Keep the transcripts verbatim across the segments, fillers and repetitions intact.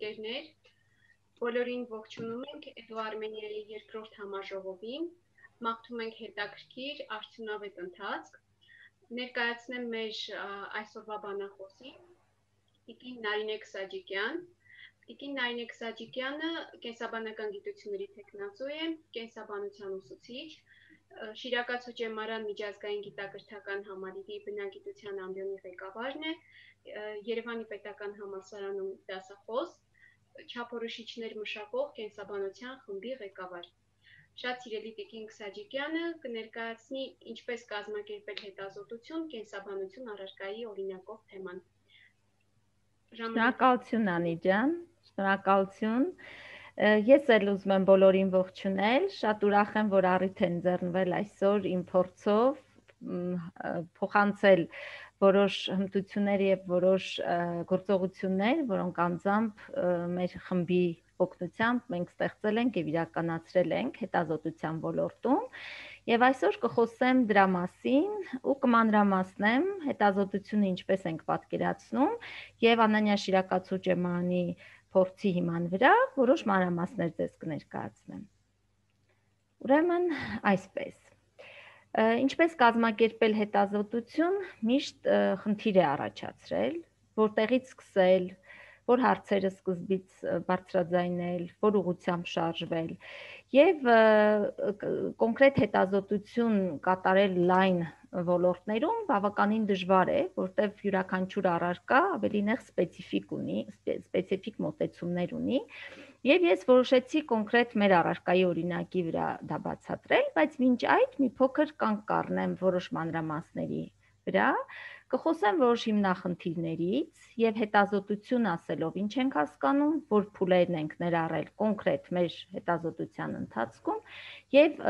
ընկերներ, բոլորին ողջունում ենք Էդուարմենիայի երկրորդ համաժողովին, մաղթում ենք հետաքրքիր արդյունավետ ընթացք, ներկայացնեմ մեր այսօրվա բանախոսին, տիկին Նարինե Քսաջիկյան, տիկին Նարինե Քսաջիկյանը կենսաբանական գիտությունների թեկնածու է, կենսաբանության ուսուցիչ, Շիրակացու ջեմարան միջազգային գիտակրթական համալիրի բնագիտության ամբիոնի ղեկավարն է, Երևանի պետական համալսարանում դասախոս, չափորոշիչներ մշակող կենսաբանության խմբի ղեկավար։ Շատ սիրելի տիկին Քսաջիկյանը կներկայացնի ինչպես կազմակերպել հետազոտություն կենսաբանություն առարկայի օրինակով թեման։ Շնորհակալություն Անի ջան, շնորհակալություն։ Ես էլ ուզում եմ բոլորին ողջունել, շատ ուրախ եմ, որ առիթ են ձեռնվել այսօր իմ փորձով փոխանցել որոշ հմտություններ եւ որոշ գործողություններ, որոնք անձամբ մեր խմբի օգնությամբ մենք ստեղծել ենք եւ իրականացրել ենք հետազոտության ոլորտում եւ այսօր կխոսեմ դրա մասին ու կմանրամասնեմ հետազոտությունը ինչպես ենք պատկերացնում եւ Անանյա Շիրակացու ջեմարանի փորձի հիման վրա որոշ մանրամասներ ձեզ կներկայացնեմ։ Ուրեմն այսպես Ինչպես կազմակերպել հետազոտություն միշտ խնդիր է առաջացրել, որտեղից սկսել, որ հարցերը սկզբից բարձրաձայնել, որ ուղղությամբ շարժվել եւ կոնկրետ հետազոտություն կատարել լայն ոլորտներում բավականին դժվար է, որտեղ յուրաքանչյուր առարկա ավելի նեղ սպეციფიկ ունի, սպეციფიկ մոտեցումներ ունի, եւ ես որոշեցի կոնկրետ մեր առարկայի օրինակի վրա դա բացատրել, բայց մինչ այդ մի փոքր կանգ կառնեմ որոշ մանրամասների վրա, կխոսեմ որոշ հիմնախնդիրներից եւ հետազոտություն ասելով ինչ ենք հասկանում, որ փուլերն ենք ներառել կոնկրետ մեր հետազոտության ընթացքում եւ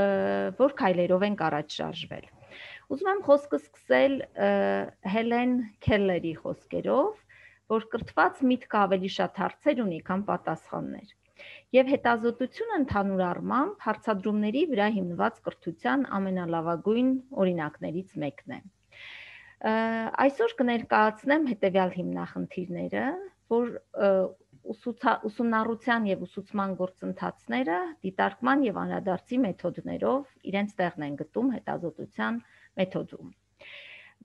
որ քայլերով ենք առաջ շարժվել։ Ուզում եմ խոսքը սկսել Հելեն Քելլերի խոսքերով, որ կրթված միտքը ավելի շատ հարցեր ունի, քան պատասխաններ։ Եվ հետազոտությունը ընդհանուր առմամբ հարցադրումների վրա հիմնված կրթության ամենալավագույն օրինակներից մեկն է։ Այսօր կներկայացնեմ հետևյալ հիմնախնդիրները, որ ուսումնառության եւ ուսուցման գործընթացները դիտարկման եւ անդրադարձի մեթոդներով իրենց տեղն են գտում հետազոտության մեթոդում։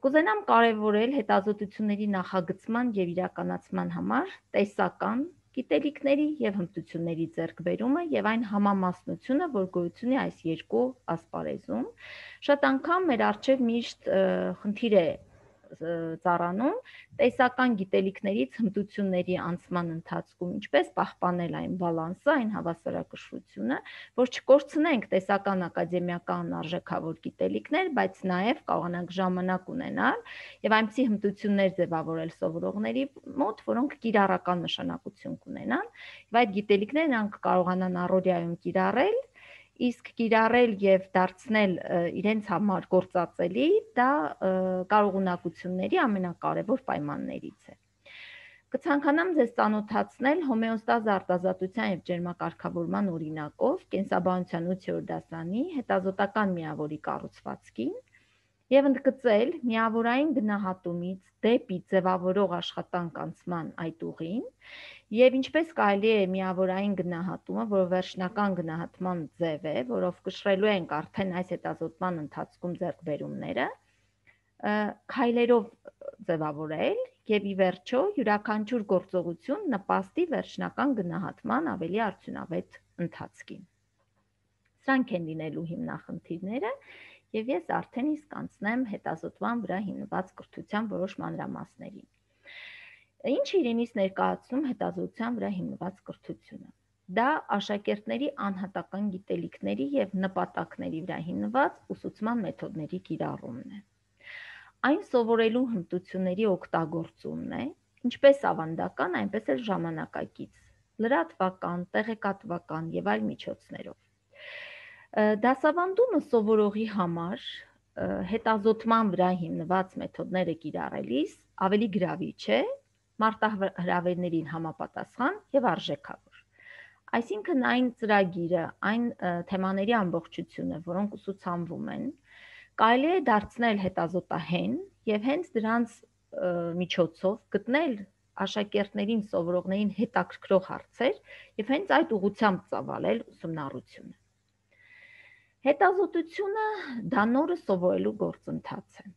Կուզենամ կարևորել հետազոտությունների նախագծման եւ իրականացման համար տեսական գիտելիքների եւ հմտությունների ձեռքբերումը եւ այն համամասնությունը, որ գոյություն ունի այս երկու ասպարեզում, շատ անգամ մեր առջև միշտ խնդիր է ծառանում տեսական գիտելիքներից հմտությունների անցման ընթացքում ինչպես պահպանել այն բալանսը, այն հավասարակշռությունը, որ չկորցնենք տեսական ակադեմիական արժեքավոր գիտելիքներ, բայց նաեւ կարողանանք ժամանակ ունենալ եւ այնպիսի հմտություններ ձևավորել սովորողների մոտ, որոնք կիրառական նշանակություն կունենան, եւ այդ գիտելիքներն անք կարողանան առօրյայում կիրառել, իսկ կիրառել եւ դարձնել իրենց համար գործածելի, դա կարողունակությունների ամենակարևոր պայմաններից է։ Կցանկանամ ձեզ ծանոթացնել հոմեոստազ արտազատության եւ ջերմակարգավորման օրինակով կենսաբանության ութերորդ դասարանի հետազոտական միավորի կառուցվածքին եւ ընդգծել միավորային գնահատումից դեպի ձևավորող աշխատանք անցման այդ ուղին եւ ինչպես կարելի է միավորային գնահատումը, որը վերջնական գնահատման ձև է, որով կշռելու ենք արդեն այս հետազոտման ընթացքում ձեռքբերումները, քայլերով ձևավորել եւ ի վերջո յուրաքանչյուր գործողություն նպաստի վերջնական գնահատման ավելի արդյունավետ ընթացքին։ Սրանք են լինելու հիմնախնդիրները եւ ես արդեն իսկ անցնեմ հետազոտման վրա հիմնված կրթության որոշ մանրամասներին։ Ինչ իրենից ներկայացնում հետազոտության վրա հիմնված կրթությունը։ Դա աշակերտների անհատական գիտելիքների եւ նպատակների վրա հիմնված ուսուցման մեթոդների կիրառումն է։ Այն սովորելու հմտությունների օգտագործումն է, ինչպես ավանդական, այնպես էլ ժամանակակից, լրատվական, տեղեկատվական եւ այլ միջոցներով։ Դասավանդումը սովորողի համար հետազոտման վրա հիմնված մեթոդները կիրառելիս ավելի գրավիչ է, մարտահրավերներին համապատասխան եւ արժեքավոր։ Այսինքն այն ծրագիրը, այն թեմաների ամբողջությունը, որոնք ուսուցանվում են, կարելի է դարձնել հետազոտահեն եւ հենց դրանց միջոցով գտնել աշակերտներին, սովորողներին հետաքրքրող հարցեր եւ հենց այդ ուղղությամբ ծավալել ուսումնառությունը։ Հետազոտությունը դա նորը սովորելու գործընթաց է։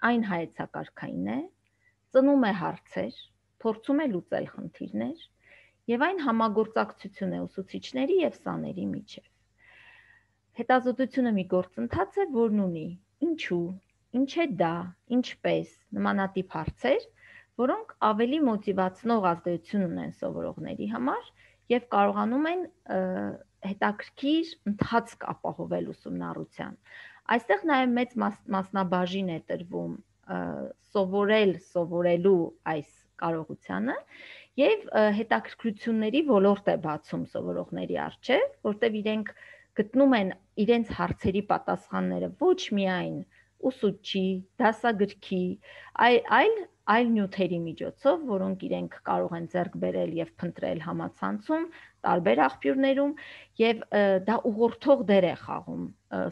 Այն հայեցակարգային է, ծնում է հարցեր, փորձում է լուծել խնդիրներ եւ այն համագործակցություն է ուսուցիչների եւ սաների միջեւ։ Հետազոտությունը մի գործընթաց է, որն ունի ինչու, ինչ է դա, ինչպես, նմանատիպ հարցեր, որոնք ավելի մոտիվացնող ազդեցություն ունեն սովորողների համար եւ կարողանում են հետաքրքիր ընթացք ապահովել ուսումնառության։ Այստեղ նաեւ մեծ մասնաբաժին է տրվում սովորել, սովորելու այս կարողությանը եւ հետաքրքրությունների ոլորտ է բացում սովորողների առջեւ, որտեղ իրենք գտնում են իրենց հարցերի պատասխանները ոչ միայն ուսուցչի, դասագրքի, այլ այլ նյութերի միջոցով, որոնք իրենք կարող են ձեռք բերել եւ փնտրել համացանցում, տարբեր աղբյուրներում, եւ դա ուղղորդող դեր է խաղում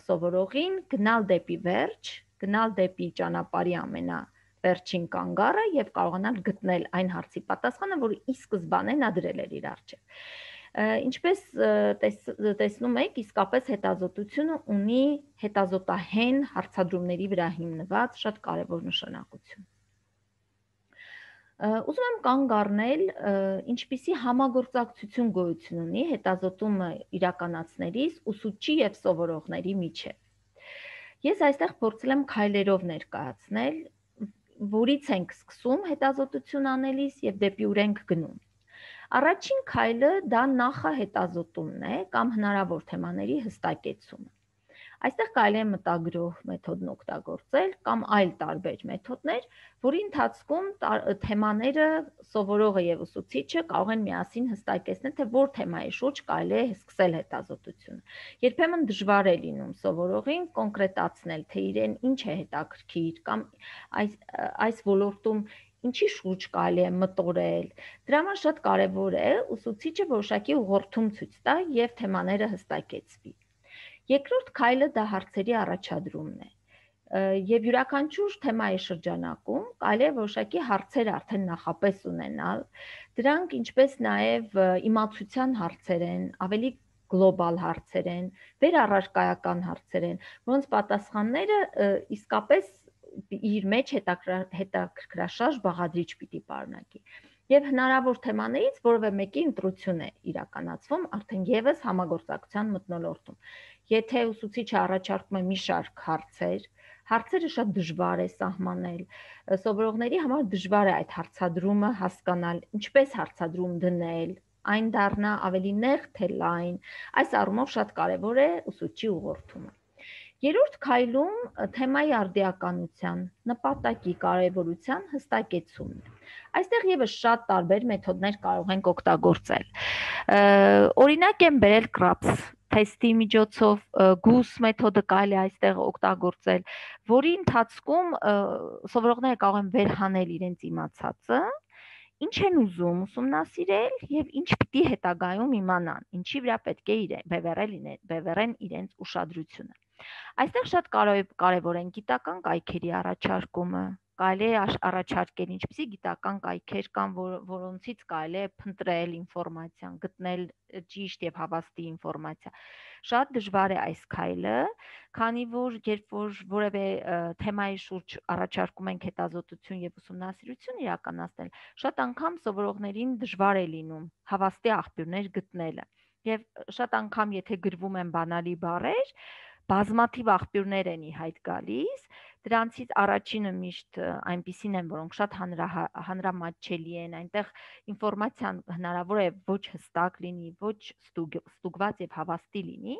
սովորողին գնալ դեպի վերջ, գնալ դեպի ճանապարհի ամենավերջին կանգառը եւ կարողանալ գտնել այն հարցի պատասխանը, որը ի սկզբանե նա դրել էր իր առջեւ։ Ինչպես տեսնում եք, իսկապես հետազոտությունը ունի հետազոտահեն հարցադրումների վրա հիմնված շատ կարևոր նշանակություն։ Ուզում եմ կանգ առնել, ինչպիսի համագործակցություն գոյություն ունի հետազոտումը իրականացնելիս ուսուցչի եւ սովորողների միջեւ։ Ես այստեղ փորձել եմ քայլերով ներկայացնել, որից ենք սկսում հետազոտություն անելիս եւ դեպի ուր ենք գնում։ Առաջին քայլը դա նախահետազոտումն է կամ հնարավոր թեմաների հստակեցումը։ Այստեղ կարելի է մտագրող մեթոդն օգտագործել կամ այլ տարբեր մեթոդներ, որի ընթացքում թեմաները սովորողը եւ ուսուցիչը կարող են միասին հստակեցնել, թե որ թեմայի շուրջ կարելի է սկսել հետազոտությունը։ Երբեմն դժվար է լինում սովորողին կոնկրետացնել, թե իրեն ինչ է հետաքրքիր կամ այս այս ոլորտում ինչի շուրջ կարելի է մտորել։ Դրա համար շատ կարևոր է ուսուցիչը որոշակի ուղղորդում ցույց տա եւ թեմաները հստակեցվի։ Երկրորդ քայլը դա հարցերի առաջադրումն է։ Եվ յուրաքանչյուր թեմայի շրջանակում կարելի է որոշակի հարցեր արդեն նախապես ունենալ։ Դրանք ինչպես նաեւ իմացության հարցեր են, ավելի գլոբալ հարցեր են, վերառարկայական հարցեր են, որոնց պատասխանները իսկապես իր մեջ հետաքրքրաշարժ բաղադրիչ պիտի պարունակի։ Եվ հնարավոր թեմաներից որևէ մեկի ընտրություն է իրականացվում արդեն եւս համագործակցության մթնոլորտում։ Եթե ուսուցիչը առաջարկում է մի շարք հարցեր, հարցերը շատ դժվար է սահմանել, սովորողների համար դժվար է այդ հարցադրումը հասկանալ, ինչպես հարցադրում դնել, այն դառնա ավելի նեղ թե լայն, այս առումով շատ կարևոր է ուսուցչի ուղղորդումը։ Երրորդ քայլում թեմայի արդիականության, նպատակի կարևորության հստակեցումն է։ Այստեղ եւս շատ տարբեր մեթոդներ կարող ենք օգտագործել։ Օրինակ եմ բերել կրապս թեստի միջոցով, գուս մեթոդը կարելի է այստեղ օգտագործել, որի ընթացքում սովորողները կարող են վերհանել իրենց իմացածը, ինչ են ուզում ուսումնասիրել եւ ինչ պիտի հետագայում իմանան, ինչի վրա պետք է իրեն բևեռել բևեռեն իրենց ուշադրությունը։ Այստեղ շատ կարևոր են գիտական կայքերի առաջարկումը, կարելի է առաջարկել ինչպիսի գիտական կայքեր կան, որոնցից կարելի է փնտրել ինֆորմացիան, գտնել ճիշտ եւ հավաստի ինֆորմացիա։ Շատ դժվար է այս քայլը, քանի որ երբ որ որևէ թեմայի շուրջ առաջարկում ենք հետազոտություն եւ ուսումնասիրություն իրականացնել, շատ անգամ սովորողներին դժվար է լինում հավաստի աղբյուրներ գտնելը։ Եվ շատ անգամ եթե գրվում են բանալի բառեր, բազմաթիվ աղբյուրներ են ի հայտ գալիս, դրանցից առաջինը միշտ այնպիսին են, որոնք շատ հանրամատչելի են, այնտեղ ինֆորմացիան հնարավոր է ոչ հստակ լինի, ոչ ստուգված եւ հավաստի լինի։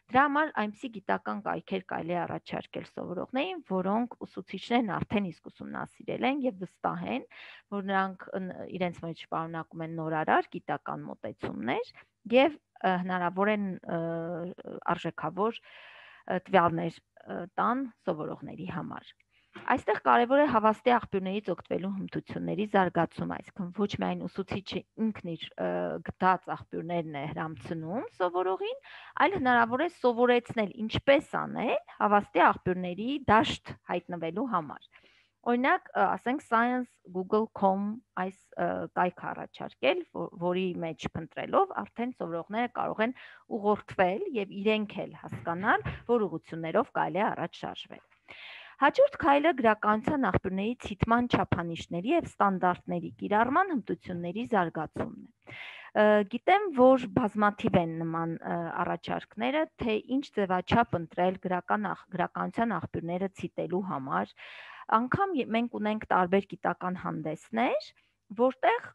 Դրա համար այնպիսի գիտական կայքեր կարելի է առաջարկել սովորողներին, որոնք ուսուցիչներն արդեն իսկ ուսումնասիրել են եւ վստահ են, որ նրանք իրենց մեջ պարունակում են նորարար գիտական մոտեցումներ եւ հնարավոր են արժեքավոր տվյալներ տան սովորողների համար։ Այստեղ կարևոր է հավաստի աղբյուրներից օգտվելու հմտությունների զարգացում, այսինքն ոչ միայն ուսուցիչը ինքն իր գտած աղբյուրներն է հրամցնում սովորողին, այլ հնարավոր է սովորեցնել ինչպես անել հավաստի աղբյուրների դաշտ հայտնվելու համար։ Օրինակ, ասենք science google dot com այս կայքը առաջարկել, որի մեջ փնտրելով արդեն սովորողները կարող են ուղղորդվել եւ իրենք էլ հասկանալ, որ ուղղություններով կարելի է առաջ շարժվել։ Հաջորդ քայլը գրականության աղբյուրների ցիտման չափանիշների եւ ստանդարտների կիրառման հմտությունների զարգացումն է։ Գիտեմ, որ բազմաթիվ են նման առաջարկները, թե ինչ ձևաչափ ընտրել գրական գրականության աղբյուրները ցիտելու համար։ Անգամ մենք ունենք տարբեր գիտական հանդեսներ, որտեղ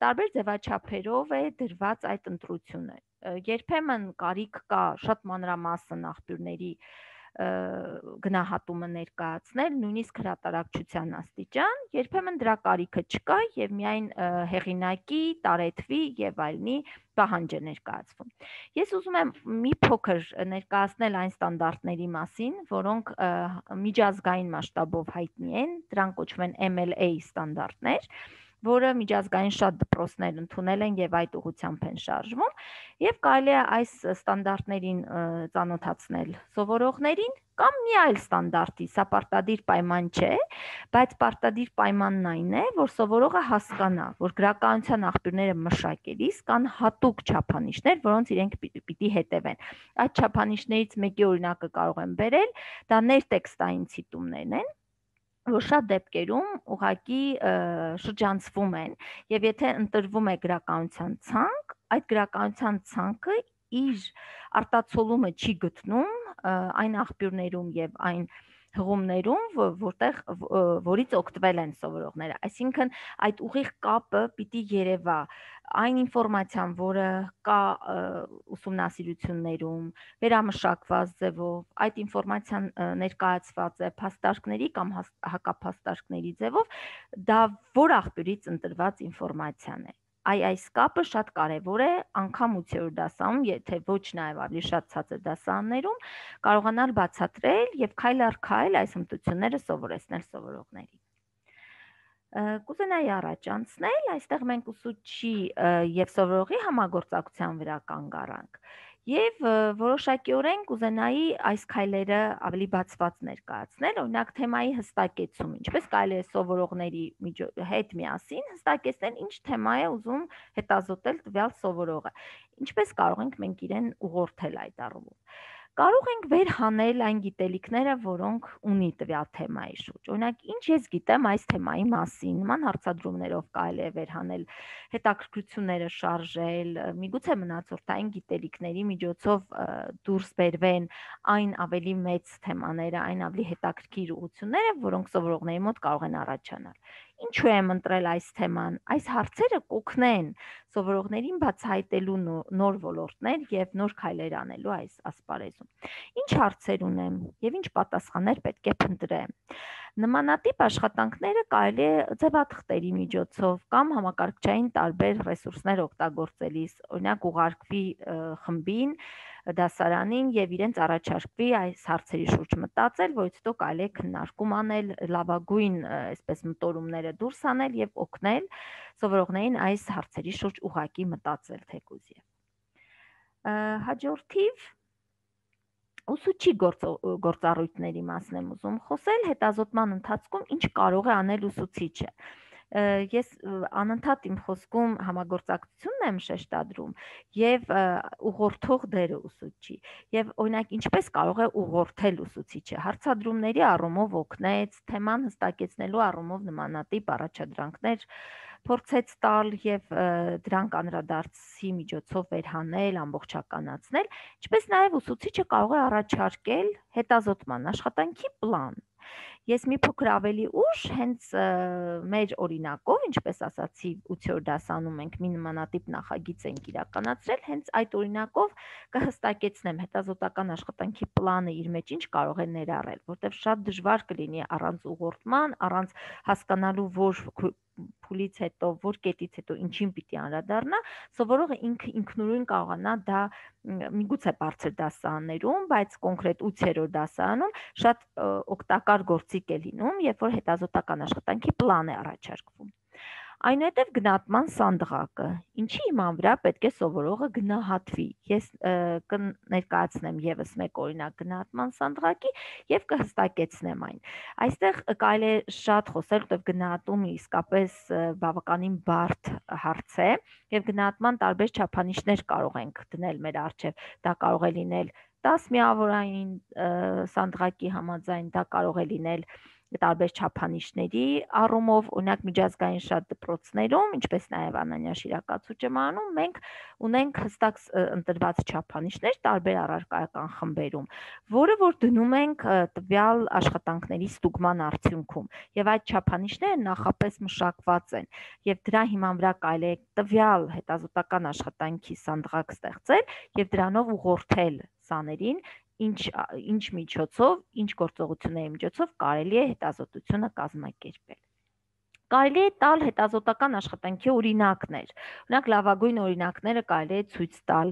տարբեր ձևաչափերով է դրված այդ ընտրությունը։ Երբեմն կարիք կա շատ մանրամասն աղբյուրների գնահատումը ներկայացնել, նույնիսկ հրատարակչության աստիճան, երբեմն դրա կարիքը չկա եւ միայն հեղինակի, տարեթվի եւ այլնի պահանջ է ներկայացվում։ Ես ուզում եմ մի փոքր ներկայացնել այն ստանդարտների մասին, որոնք միջազգային մասշտաբով հայտնի են, դրանք կոչվում են M L A ստանդարտներ, որը միջազգային շատ դպրոցներ ընդունել են եւ այդ ուղղությամբ են շարժվում, եւ կարելի է այս ստանդարտներին ծանոթացնել սովորողներին կամ մի այլ ստանդարտի, սա պարտադիր պայման չէ, բայց պարտադիր պայմանն այն է, որ սովորողը հասկանա, որ գրականության աղբյուրները մշակելիս կան հատուկ չափանիշներ, որոնց իրենք պիտի հետևեն։ Այդ չափանիշներից մեկի օրինակը կարող եմ բերել, դա ներտեքստային ցիտումներն են, որ շատ դեպքերում ուղղակի շրջանցվում են եւ եթե ընտրվում է գրականության ցանկ, այդ գրականության ցանկը իր արտացոլումը չի գտնում այն աղբյուրներում եւ այն հղումներում, որտեղ որից օգտվել են սովորողները, այսինքն այդ ուղիղ կապը պիտի երևա այն ինֆորմացիան, որը կա ուսումնասիրություններում, վերամշակված ձևով, այդ ինֆորմացիան ներկայացված է փաստարկների կամ հակափաստարկների ձևով, դա որ աղբյուրից ընտրված ինֆորմացիան է։ Այ այս կապը շատ կարևոր է, անգամ ութերորդ դասանում, եթե ոչ նաև ավելի շատ ցածր դասարաններում, կարողանալ բացատրել եւ քայլ առ քայլ այս հմտությունները սովորեցնել սովորողներին։ Կուզենայի առաջ անցնել, այստեղ մենք ուսուցչի եւ սովորողի համագործակցության վրա կանգ առանք եւ որոշակիորեն կուզենայի այս քայլերը ավելի բացված ներկայացնել, օրինակ թեմայի հստակեցում, ինչպես կարելի է սովորողների հետ միասին հստակեցնել, ինչ թեմա է ուզում հետազոտել տվյալ սովորողը, ինչպես կարող ենք մենք իրեն ուղղորդել այդ առումով։ Կարող ենք վերհանել այն գիտելիքները, որոնք ունի տվյալ թեմայի շուրջ։ Օրինակ, ինչ ես գիտեմ այս թեմայի մասին, նման հարցադրումներով կարելի է վերհանել հետաքրքրությունները շարժել, միգուցե մնացորդային գիտելիքների միջոցով դուրս բերվեն այն ավելի մեծ թեմաները, այն ավելի հետաքրքիր ուղղությունները, որոնք սովորողների մոտ կարող են առաջանալ։ Ինչու եմ ընտրել այս թեման։ Այս հարցերը կօգնեն սովորողներին բացահայտելու նոր ոլորտներ եւ նոր քայլեր անելու այս ասպարեզում։ Ինչ հարցեր ունեմ եւ ինչ պատասխաններ պետք է փնտրեմ։ Նմանատիպ աշխատանքները կարելի է ձևաթղթերի միջոցով կամ համակարգչային տարբեր ռեսուրսներ օգտագործելիս, օրինակ ուղարկվի խմբին, դասարանին եւ իրենց առաջարկվի այս հարցերի շուրջ մտածել, որից հետո կարելի է քննարկում անել, լավագույն այսպես մտորումները դուրս անել եւ օգնել սովորողներին այս հարցերի շուրջ ուղղակի մտածել թեկուզ եւ հաջորդիվ ուսուցչի գործառույթների մասն եմ ուզում խոսել, հետազոտման ընթացքում ինչ կարող է անել ուսուցիչը։ Ես անընդհատ իմ խոսքում համագործակցությունն եմ շեշտադրում եւ ուղղորդող դերը ուսուցչի եւ օրինակ ինչպես կարող է ուղղորդել ուսուցիչը հարցադրումների առումով օգնեց, թեման հստակեցնելու առումով նմանատիպ առաջադրանքներ փորձեց տալ եւ դրանք անդրադարձի միջոցով վերհանել, ամբողջականացնել, ինչպես նաեւ ուսուցիչը կարող է առաջարկել հետազոտման աշխատանքի պլան։ Ես մի փոքր ավելի ուշ հենց մեր օրինակով, ինչպես ասացի, ութերորդ դասանում մենք մի նմանատիպ նախագիծ ենք իրականացրել, հենց այդ օրինակով կհստակեցնեմ հետազոտական աշխատանքի պլանը իր մեջ ինչ կարող է ներառել, որտեղ շատ դժվար կլինի առանց ուղղորդման, առանց հասկանալու որ փուլից հետո, որ կետից հետո ինչին պիտի անդրադառնա, սովորողը ինքը ինքնուրույն կարողանա դա միգուցե բարձր դասարաններում, բայց կոնկրետ ութերորդ դասարանում շատ օգտակար գործիք է լինում, երբ որ հետազոտական աշխատանքի պլան է առաջարկվում։ Այնուհետև գնահատման սանդղակը, ինչի հիման վրա պետք է սովորողը գնահատվի։ Ես կներկայացնեմ եւս մեկ օրինակ գնահատման սանդղակի եւ կհստակեցնեմ այն։ Այստեղ կարելի է շատ խոսել, որտեղ գնահատումը իսկապես բավականին բարդ հարց է եւ գնահատման տարբեր չափանիշներ կարող ենք դնել մեր առջև։ Դա կարող է լինել դաս միավորային սանդղակի համաձայն, դա կարող է լինել տարբեր չափանիշների առումով, օրինակ միջազգային շատ դպրոցներում, ինչպես նաև Անանյա Շիրակացու ճեմարանում, մենք ունենք հստակ ընտրված չափանիշներ տարբեր առարկայական խմբերում, որը որ դնում ենք տվյալ աշխատանքների ստուգման արդյունքում, եւ այդ չափանիշները նախապես մշակված են, եւ դրա հիման վրա կարելի է տվյալ հետազոտական աշխատանքի սանդղակ ստեղծել եւ դրանով ուղղորդել սաներին, ինչ ինչ միջոցով, ինչ գործողությունների միջոցով կարելի է հետազոտությունը կազմակերպել։ Կարելի է տալ հետազոտական աշխատանքի օրինակներ։ Օրինակ լավագույն օրինակները կարելի է ցույց տալ,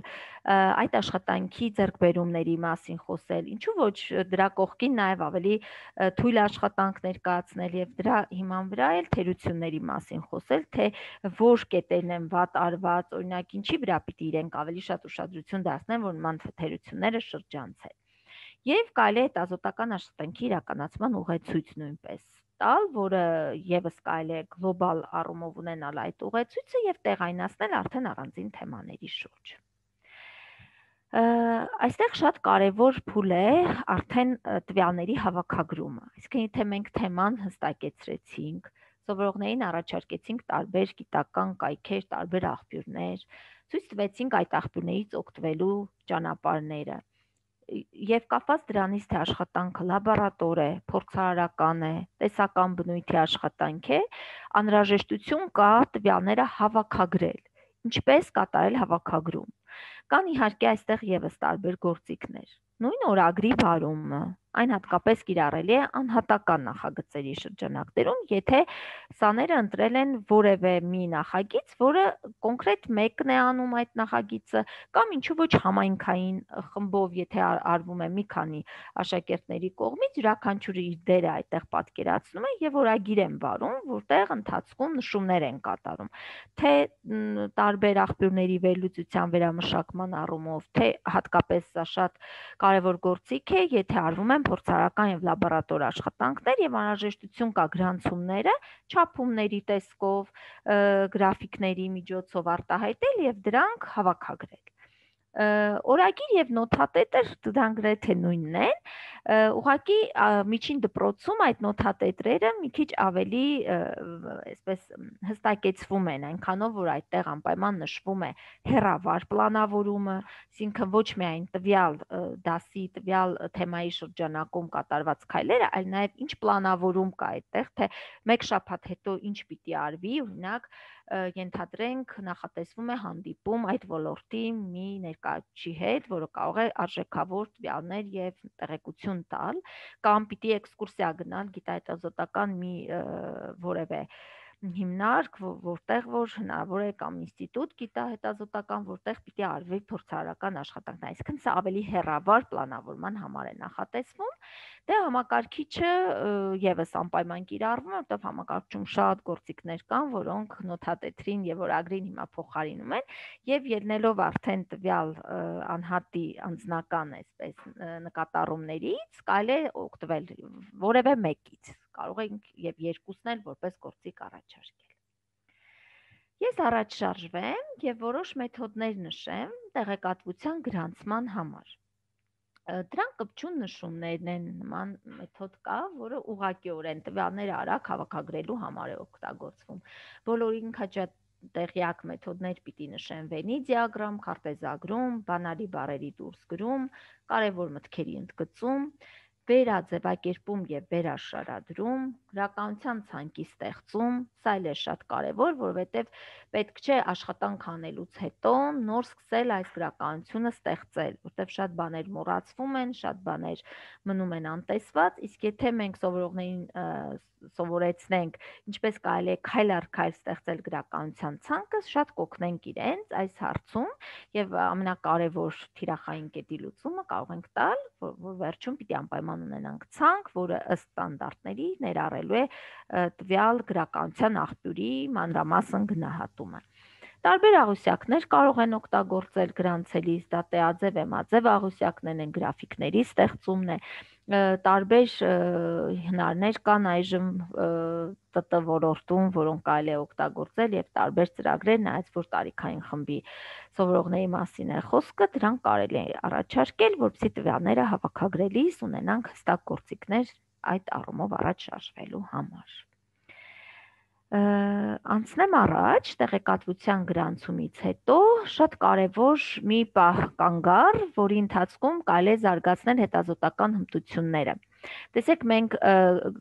այդ աշխատանքի ձեռքբերումների մասին խոսել, ինչու ոչ դրա կողքին նաև ավելի թույլ աշխատանք ներկայացնել եւ դրա հիման վրա էլ թերությունների մասին խոսել, թե որ կետերն են վատ արված, օրինակ ինչի վրա պիտի իրենք ավելի շատ ուշադրություն դարձնեն, որ նման թերությունները շրջանցեն։ Եվ կարելի է հետազոտական աշխատանքի իրականացման ուղեցույց նույնպես տալ, որը եւս կարելի է գլոբալ առումով ունենալ այդ ուղեցույցը եւ տեղայնացնել արդեն առանձին թեմաների շուրջ։ Այստեղ շատ կարևոր փուլ է արդեն տվյալների հավաքագրումը։ Այսինքն եթե մենք թեման հստակեցրեցինք, սովորողներին առաջարկեցինք տարբեր գիտական կայքեր, տարբեր աղբյուրներ, ցույց տվեցինք այդ աղբյուրներից օգտվելու ճանապարհները, եւ կապված դրանից թե աշխատանքը լաբորատոր է, փորձարարական է, տեսական բնույթի աշխատանք է, անհրաժեշտություն կա տվյալները հավաքագրել։ Ինչպես կատարել հավաքագրում։ Կան իհարկե այստեղ եւս տարբեր գործիքներ։ Նույն օրագրի վարումը, այն հատկապես կիրառելի է անհատական նախագծերի շրջանակներում, եթե սաները ընտրել են որևէ մի նախագիծ, որը կոնկրետ մեկն է անում այդ նախագիծը, կամ ինչու ոչ համայնքային խմբով, եթե արվում է մի քանի աշակերտների կողմից, յուրաքանչյուրը իր դերը այդտեղ պատկերացնում է եւ օրագիր են վարում, որտեղ ընթացքում նշումներ են կատարում, թե տարբեր աղբյուրների վերլուծության վերամշակման առումով, թե հատկապես սա շատ կարևոր գործիք է, եթե արվում են փորձարարական եւ լաբորատոր աշխատանքներ եւ անհրաժեշտություն կա գրանցումները չափումների տեսքով, գրաֆիկների միջոցով արտահայտել եւ դրանք հավաքագրել։ Օրագիր եւ նոթատետը դրանք գրեթե նույնն են, ուղղակի միջին դպրոցում այդ նոթատետրերը մի քիչ ավելի այսպես հստակեցվում են, այնքանով որ այդտեղ անպայման նշվում է հեռավար պլանավորումը, այսինքն ոչ միայն տվյալ դասի, տվյալ թեմայի շրջանակում կատարված քայլերը, այլ նաեւ ինչ պլանավորում կա այդտեղ, թե մեկ շաբաթ հետո ինչ պիտի արվի, օրինակ ենթադրենք նախատեսվում է հանդիպում այդ ոլորտի մի ներկայացուցիչի հետ, որը կարող է արժեքավոր տվյալներ եւ տեղեկություն տալ, կամ պիտի էքսկուրսիա գնալ գիտահետազոտական մի որևէ հիմնարկ, որտեղ որ հնարավոր է կամ ինստիտուտ գիտահետազոտական, որտեղ պիտի արվի փորձարարական աշխատանքն, այսինքն սա ավելի հեռավար պլանավորման համար է նախատեսվում, դե համակարգիչը եւս անպայման կիրառվում է, որտեղ համակարգչում շատ գործիքներ կան, որոնք նոթատետրին եւ օրագրին հիմա փոխարինում են, եւ ելնելով արդեն տվյալ անհատի անձնական այսպես նկատառումներից, կարելի է օգտվել որևէ մեկից, կարող ենք եւ երկուսն էլ որպես գործիք առաջարկել։ Ես առաջ շարժվեմ եւ որոշ մեթոդներ նշեմ տեղեկատվության գրանցման համար։ Դրանք կպչուն նշումներն են, նման մեթոդ կա, որը ուղղակիորեն տվյալները արագ հավաքագրելու համար է օգտագործվում։ Բոլորին հաճա տեղյակ մեթոդներ պիտի նշեն Venn դիագրամ, քարտեզագրում, բանալի բառերի դուրսգրում, կարևոր մտքերի ընդգծում, վերաձևակերպում եւ վերաշարադրում, գրականության ցանկի ստեղծում, սա էլ է շատ կարևոր, որովհետեւ պետք չէ աշխատանք անելուց հետո նոր սկսել այս գրականությունը ստեղծել, որտեվ շատ բաներ մոռացվում են, շատ բաներ մնում են անտեսված, իսկ եթե մենք սովորողներին սովորեցնենք ինչպես կարելի է քայլ առ քայլ ստեղծել գրականության ցանկը, շատ կօգնենք իրենց այս հարցում եւ ամենակարևոր թիրախային կետի լուծումը կարող ենք տալ, որ, որ վերջում պիտի անպայման հետազոտության ունենանք ցանկ, որը ըստ ստանդարտների ներառելու է տվյալ գրականության աղբյուրի մանրամասն գնահատումը։ Տարբեր աղյուսակներ կարող են օգտագործել գրանցելիս, դա տեաձև, էմաձև աղյուսակներն են, գրաֆիկների ստեղծումն է, տարբեր հնարներ կան այժմ ՏՏ ոլորտում, որոնք կարելի է օգտագործել եւ տարբեր ծրագրեր, նայած որ տարիքային խմբի սովորողների մասին է խոսքը, դրանք կարելի է առաջարկել, որպեսզի տվյալները հավաքագրելիս ունենանք հստակ գործիքներ այդ առումով առաջ շարժվելու համար։ Անցնեմ առաջ, տեղեկատվության գրանցումից հետո շատ կարևոր մի պահ կան գար, որի ընթացքում կարելի է զարգացնել հետազոտական հմտությունները։ Տեսեք, մենք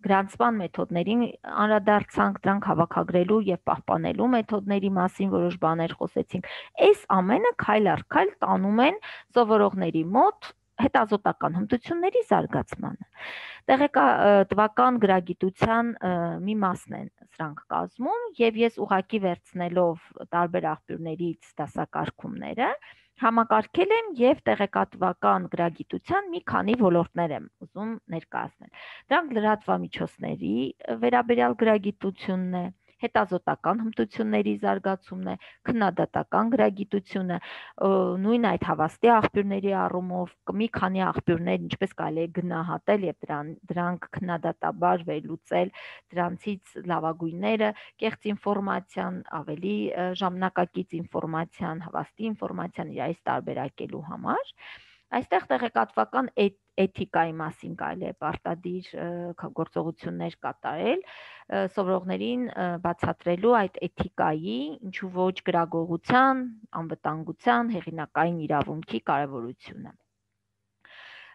գրանցման մեթոդներին անդրադարձանք, դրանք հավաքագրելու եւ պահպանելու մեթոդների մասին որոշ բաներ խոսեցինք։ Այս ամենը քայլ առ քայլ տանում են սովորողների մոտ հետազոտական հմտությունների զարգացմանը։ Տեղեկատվական գրագիտության մի մասն են սրանք կազմում եւ ես ուղակի վերցնելով տարբեր աղբյուրներից դասակարգումները համակարգել եմ եւ տեղեկատվական գրագիտության մի քանի ոլորտներ եմ ուզում ներկայացնել։ Դրանք լրատվամիջոցների վերաբերյալ գրագիտությունն է, հետազոտական հմտությունների զարգացումն է, քննադատական գրագիտությունը, նույն այդ հավաստի աղբյուրների առումով մի քանի աղբյուրներ ինչպես կարելի է գնահատել եւ դրան դրանք քննադատաբար վերլուծել, դրանցից լավագույնները կեղծ ինֆորմացիան, ավելի ժամանակակից ինֆորմացիան, հավաստի ինֆորմացիան իրարից տարբերակելու համար։ Այստեղ տեղեկատվական էթիկայի մասին կարելի է պարտադիր գործողություններ կատարել, սովորողներին բացատրելու այդ էթիկայի, ինչու ոչ գրագողության, անվտանգության, հեղինակային իրավունքի կարևորությունը։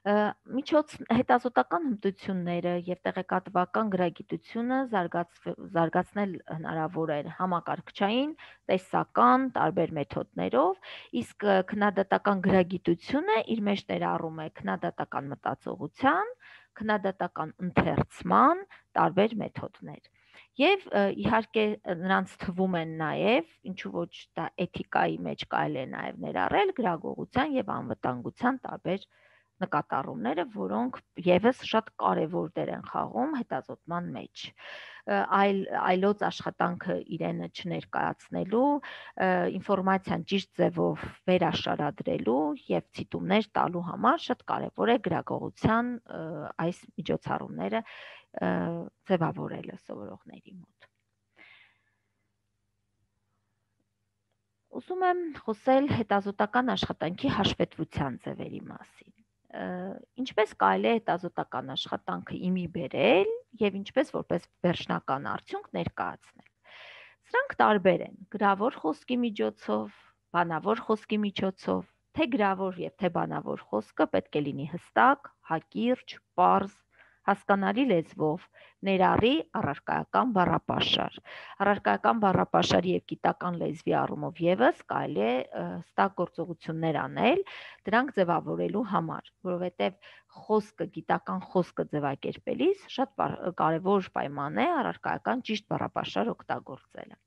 Միջոց հետազոտական հմտությունները եւ տեղեկատվական գրագիտությունը զարգացնել հնարավոր է համակարգչային, տեսական, տարբեր մեթոդներով, իսկ քննադատական գրագիտությունը իր մեջ ներառում է քննադատական մտածողության, քննադատական ընթերցման տարբեր մեթոդներ։ Եվ իհարկե նրանց թվում են նաև, ինչու ոչ դա էթիկայի մեջ կարելի է նաև ներառել գրագողության եւ անվտանգության տարբեր նկատառումները, որոնք եւս շատ կարևոր դեր են խաղում հետազոտման մեջ։ Այլ այլոց աշխատանքը իրենը չներկայացնելու, ինֆորմացիան ճիշտ ձևով վերաշարադրելու եւ ցիտումներ տալու համար շատ կարևոր է գրագողության այս միջոցառումները ձևավորելը սովորողների մոտ։ Ուզում եմ խոսել հետազոտական աշխատանքի հաշվետվության ձևերի մասին։ Ինչպես կարելի է հետազոտական աշխատանքը իմի բերել եւ ինչպես որպես վերջնական արդյունք ներկայացնել։ Սրանք տարբեր են՝ գրավոր խոսքի միջոցով, բանավոր խոսքի միջոցով, թե գրավոր եւ թե բանավոր խոսքը պետք է լինի հստակ, հակիրճ, պարզ, հասկանալի լեզվով, ներառի առարկայական բառապաշար։ Առարկայական բառապաշարի եւ գիտական լեզվի առումով եւս կարելի է հստակ գործողություններ անել դրանք ձևավորելու համար, որովհետեւ խոսքը, գիտական խոսքը ձևակերպելիս շատ կարևոր պայման է առարկայական ճիշտ բառապաշար օգտագործելը։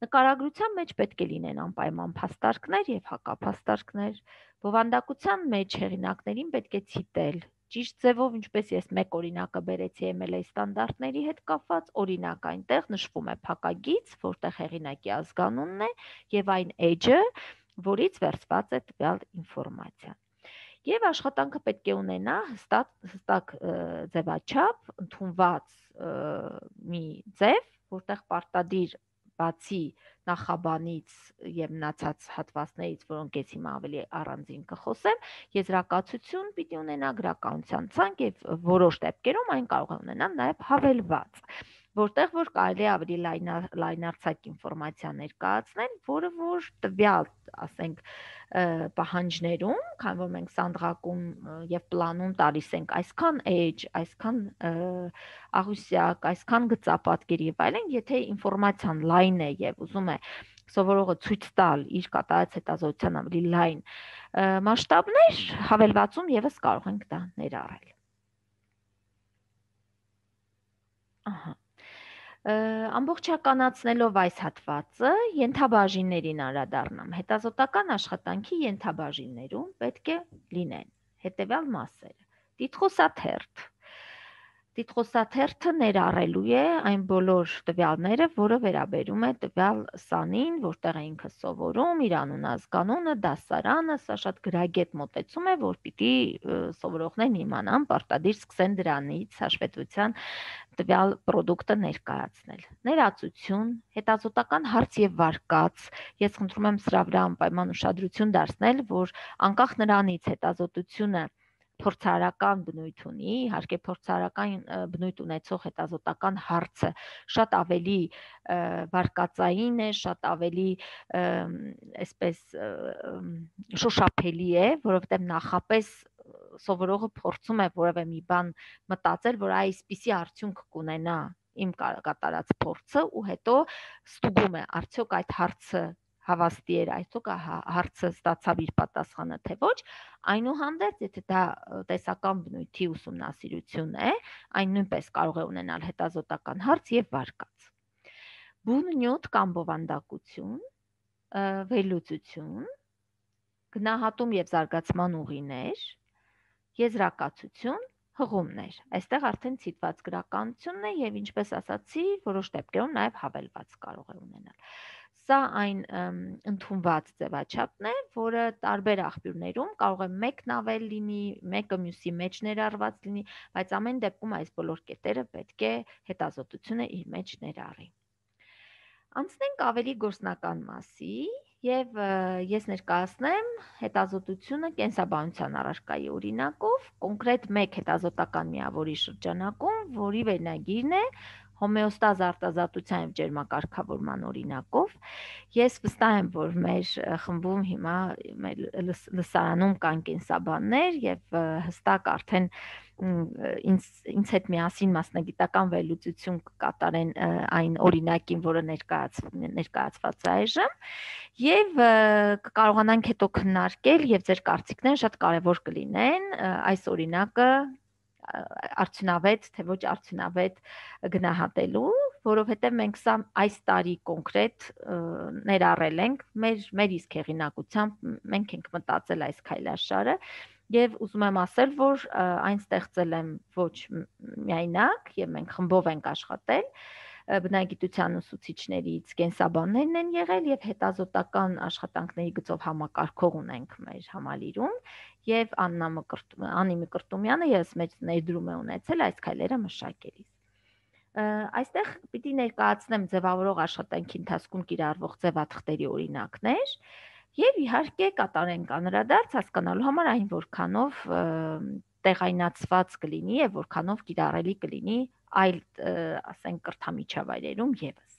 Նկարագրության մեջ պետք է լինեն անպայման փաստարկներ եւ հակափաստարկներ։ Բովանդակության մեջ հեղինակներին պետք է ցիտել ճիշտ ձևով, ինչպես ես մեկ օրինակը բերեցի էմ էլ էյ ստանդարտների հետ կապված, օրինակ այնտեղ նշվում է փակագիծ, որտեղ հեղինակի ազգանունն է եւ այն էջը, որից վերցված է տվյալ ինֆորմացիան։ Եվ աշխատանքը պետք է ունենա հստակ հստակ ձևաչափ, ընդունված մի ձև, որտեղ պարտադիր բացի նախաբանից եւ մնացած հատվածներից, որոնք ես հիմա ավելի առանձին կխոսեմ, եզրակացություն պիտի ունենա, գրականության ցանկ եւ որոշ դեպքերում այն կարող է ունենալ նաեւ հավելված, որտեղ որ կարելի է ավելի լայնարձակ ինֆորմացիա ներկայացնել, որը որ տվյալ, ասենք, պահանջներում, քանի որ մենք սանդղակում եւ պլանում տալիս ենք այսքան էջ, այսքան աղյուսակ, այսքան գծապատկեր եւ այլն, եթե ինֆորմացիան լայն է եւ ուզում է սովորողը ցույց տալ իր կատարած հետազոտության ավելի լայն մասշտաբներ, հավելվածում եւս կարող ենք դա ներառել։ Ահա Ամբողջականացնելով այս հատվածը ենթաբաժիններին անդրադառնամ։ Հետազոտական աշխատանքի ենթաբաժիններում պետք է լինեն հետևյալ մասերը՝ Տիտղոսաթերթ Տիտղոսաթերթը ներառելու է այն բոլոր տվյալները, որը վերաբերում է տվյալ սանին, որտեղ է ինքը սովորում, իր անունը, ազգանունը, դասարանը, սա շատ գրագետ մոտեցում է, որ պիտի սովորողներն իմանան, պարտադիր սկսեն դրանից հաշվետվության տվյալ պրոդուկտը ներկայացնել։ Ներածություն, հետազոտական հարց եւ վարկած։ Ես խնդրում եմ սրա վրա անպայման ուշադրություն դարձնել, որ անկախ նրանից հետազոտությունը փորձարարական բնույթ ունի, իհարկե փորձարարական բնույթ ունեցող հետազոտական հարցը շատ ավելի վարկածային է, շատ ավելի այսպես շոշափելի է, որովհետև նախապես սովորողը փորձում է որևէ մի բան մտածել, որ այսպիսի արդյունք կունենա իմ կատարած փորձը ու հետո ստուգում է, արդյոք այդ հարցը հավաստի էր, այսօք հարցը ստացավ իր պատասխանը, թե ոչ, այնուհանդերձ, եթե դա տեսական բնույթի ուսումնասիրություն է, այն նույնպես կարող է ունենալ հետազոտական հարց եւ վարկած։ Բուն նյութ կամ բովանդակություն, վերլուծություն, գնահատում եւ զարգացման ուղիներ, եզրակացություն, հղումներ։ Այստեղ արդեն ցիտված գրականությունն է եւ ինչպես ասացի, որոշ դեպքերում նաեւ հավելված կարող է ունենալ։ Սա այն ընդունված ձևաչափն է, որը տարբեր աղբյուրներում կարող է մեկն ավել լինի, մեկը մյուսի մեջ ներառված լինի, բայց ամեն դեպքում այս բոլոր կետերը պետք է հետազոտությունը իր մեջ ներառի։ Անցնենք ավելի գործնական մասի եւ ես ներկայացնեմ հետազոտությունը կենսաբանության առարկայի օրինակով, կոնկրետ մեկ հետազոտական միավորի շրջանակում, որի վերնագիրն է հոմեոստազ արտազատության եւ ջերմակարգավորման օրինակով։ Ես վստահ եմ, որ մեր խմբում հիմա մեր լսարանում կան կենսաբաններ եւ հստակ արդեն ինձ ինձ հետ միասին մասնագիտական վերլուծություն կկատարեն այն օրինակին, որը ներկայաց ներկայացված է այժմ, եւ կկարողանանք հետո քննարկել եւ ձեր կարծիքները շատ կարեւոր կլինեն այս օրինակը արդյունավետ, թե ոչ արդյունավետ գնահատելու, որովհետև մենք սա այս տարի կոնկրետ ներառել ենք մեր մեր իսկ հեղինակությամբ, մենք ենք մտածել այս քայլաշարը եւ ուզում եմ ասել, որ այն ստեղծել եմ ոչ միայնակ եւ մենք խմբով ենք աշխատել, բնագիտության ուսուցիչներից կենսաբաններն են եղել եւ հետազոտական աշխատանքների գծով համակարգող ունենք մեր համալիրում եւ Աննա Անի Մկրտումյանը ես մեծ ներդրում է ունեցել այս քայլերը մշակելիս։ Այստեղ պիտի ներկայացնեմ ձևավորող աշխատանքի ընթացքում կիրառվող ձևաթղթերի օրինակներ եւ իհարկե կատարենք անդրադարձ հասկանալու համար այն որքանով տեղայնացված կլինի եւ որքանով կիրառելի կլինի այլ, ասենք, կրթամիջավայրերում եւս։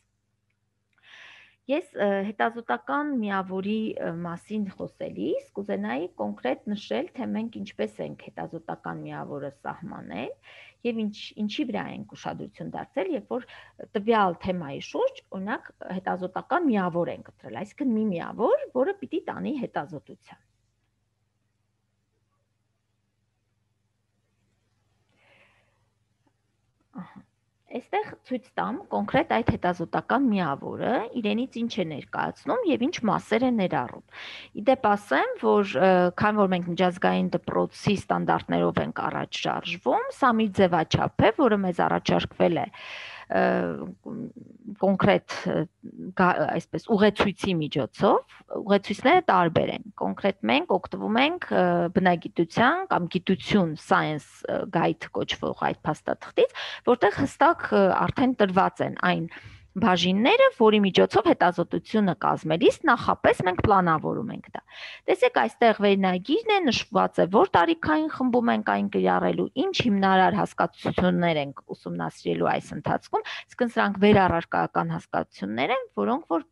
Ես հետազոտական միավորի մասին խոսելիս կուզենայի կոնկրետ նշել, թե մենք ինչպես ենք հետազոտական միավորը սահմանել եւ ինչ ինչի վրա ենք ուշադրություն դարձել, երբ որ տվյալ թեմայի շուրջ, օրինակ, հետազոտական միավոր ենք ընտրել, այսինքն մի միավոր, որը պիտի տանի հետազոտության։ Այստեղ ցույց տամ կոնկրետ այդ հետազոտական միավորը, իրենից ինչ է ներկայացնում եւ ինչ մասեր է ներառում։ Իդեպ ասեմ, որ քանի որ մենք միջազգային դպրոցի ստանդարտներով ենք առաջ շարժվում, սա մի ձևաչափ է, որը մեզ առաջարկվել է կոնկրետ այսպես ուղեցույցի միջոցով, ուղեցույցները տարբեր են, կոնկրետ մենք օգտվում ենք բնագիտության կամ գիտություն science guide կոչվող այդ փաստաթղթից, որտեղ հստակ արդեն տրված են այն բաժինները, որի միջոցով հետազոտությունը կազմելիս նախապես մենք պլանավորում ենք դա։ Տեսեք, այստեղ վերնագիրն է, նշված է, որ տարիքային խմբում ենք այն կիրառելու, ինչ հիմնարար հասկացություններ ենք ուսումնասիրելու այս ընթացքում, իսկ սրանք վերառարկայական հասկացություններ են, որոնք որ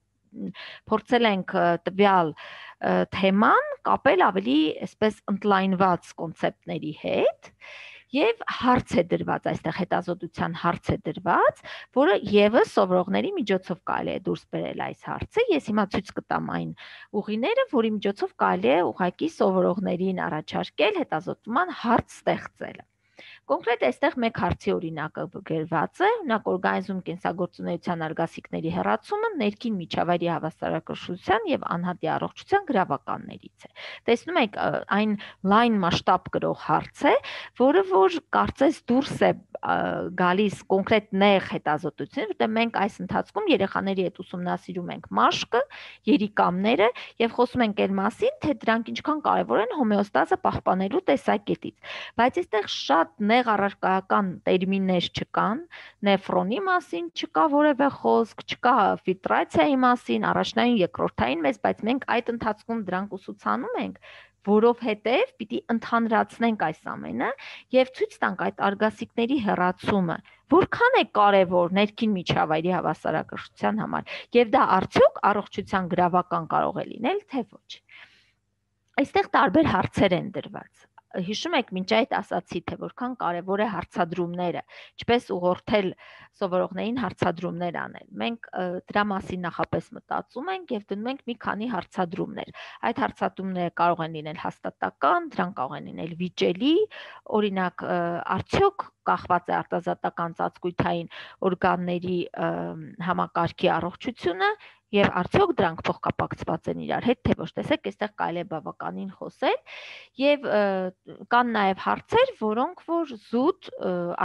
փորձել ենք տվյալ թեման կապել ավելի այսպես ընդլայնված կոնցեպտների հետ եւ հարց է դրված, այստեղ հետազոտության հարց է դրված, որը եւս սովորողների միջոցով կարելի է դուրս բերել այս հարցը։ Ես հիմա ցույց կտամ այն ուղիները, որի միջոցով կարելի է ուղղակի սովորողներին առաջարկել հետազոտման հարց ստեղծելը։ Կոնկրետ այստեղ մեկ հարցի օրինակը գրված է, օրինակ օրգանիզմ կենսագործունեության արգասիքների հեռացումը ներքին միջավայրի հավասարակշռության եւ անհատի առողջության գրավականներից է։ Տեսնում եք, այն լայն մասշտաբ կրող հարց է, որը որ կարծես դուրս է գալիս կոնկրետ նեղ հետազոտությունից, որտեղ մենք այս ընթացքում երեխաների հետ ուսումնասիրում ենք մաշկը, երիկամները եւ խոսում ենք այն մասին, թե դրանք ինչքան կարեւոր են հոմեոստազը պահպանելու տեսակետից։ Բայց այստեղ շատ նեղ առարկայական տերմիններ չկան, նեֆրոնի մասին չկա որևէ խոսք, չկա ֆիլտրացիայի մասին, առաջնային, երկրորդային մեզ, բայց մենք այդ ընթացքում դրանք ուսուցանում ենք, որովհետև պիտի ընդհանրացնենք այս ամենը եւ ցույց տանք այդ արգասիքների հեռացումը որքան է կարևոր ներքին միջավայրի հավասարակշռության համար եւ դա արդյոք առողջության գրավական կարող է լինել թե ոչ։ Այստեղ տարբեր հարցեր են դրված։ Հիշում եք, մինչ այդ ասացի, թե որքան կարևոր է հարցադրումները, ինչպես ուղղորդել սովորողներին հարցադրումներ անել։ Մենք դրա մասին նախապես մտածում ենք եւ դնում ենք մի քանի հարցադրումներ։ Այդ հարցադրումները կարող են լինել հաստատական, դրանք կարող են լինել վիճելի, օրինակ, արդյոք կախված է արտազատական ծածկույթային օրգանների համակարգի առողջությունը եւ արդյոք դրանք փոխկապակցված են իրար հետ, թե ոչ։ Տեսեք, այստեղ կարելի է բավականին խոսել եւ կան նաեւ հարցեր, որոնք որ զուտ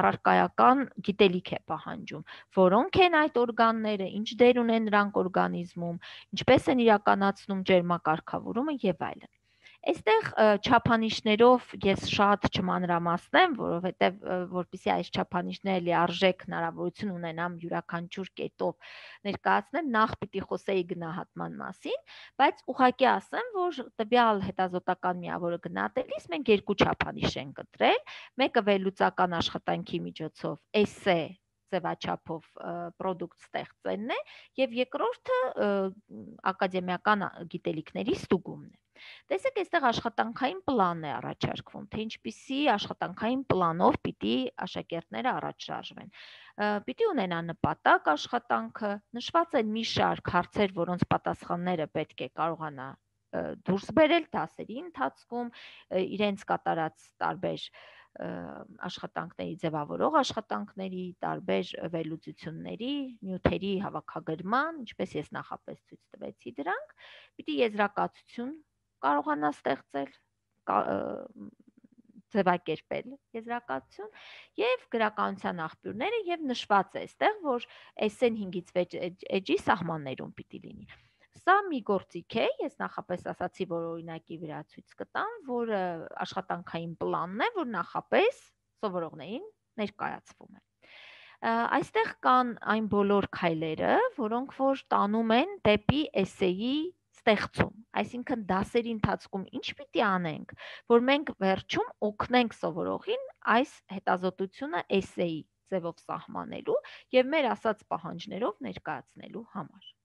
առարկայական գիտելիք է պահանջում, որոնք են այդ օրգանները, ինչ դեր ունեն նրանք օրգանիզմում, ինչպես են իրականացնում ջերմակարգավորումը եւ այլն։ Այստեղ չափանիշներով ես շատ չմանրամասնեմ, որովհետև որպեսզի այս չափանիշները լիարժեք հնարավորություն ունենամ յուրաքանչյուր կետով ներկայացնել, նախ պիտի խոսեի գնահատման մասին, բայց ուղղակի ասեմ, որ տվյալ հետազոտական միավորը գնահատելիս մենք երկու չափանիշ ենք ընտրել, մեկը վերլուծական աշխատանքի միջոցով էսե ձևաչափով պրոդուկտ ստեղծելն է եւ երկրորդը ակադեմիական գիտելիքների ստուգումն է։ Տեսեք, այստեղ աշխատանքային պլան է առաջարկվում, թե ինչպիսի աշխատանքային պլանով պիտի աշակերտները առաջ շարժվեն։ Պիտի ունենա նպատակ աշխատանքը, նշված են մի շարք հարցեր, որոնց պատասխանները պետք է կարողանա դուրս բերել դասերի ընթացքում, իրենց կատարած տարբեր աշխատանքների ձևավորող աշխատանքների, տարբեր վերլուծությունների, նյութերի հավաքագրման, ինչպես ես նախապես ցույց տվեցի դրանք, պիտի եզրակացություն կարողանա ստեղծել, ձևակերպել եզրակացություն եւ գրականության աղբյուրները եւ նշված է այստեղ, որ էսեն հինգից վեց էջի սահմաններում պիտի լինի։ Սա մի գործիք է, ես նախապես ասացի, որ օրինակի վրա ցույց կտամ, որ աշխատանքային պլանն է, որ նախապես սովորողներին ներկայացվում է։ Այստեղ կան այն բոլոր քայլերը, որոնք որ տանում են դեպի էսեի ստեղծում, այսինքն դասերի ընթացքում ինչ պիտի անենք, որ մենք վերջում օգնենք սովորողին այս հետազոտությունը էսեի ձևով սահմանելու եւ մեր ասած պահանջներով ներկայացնելու համար։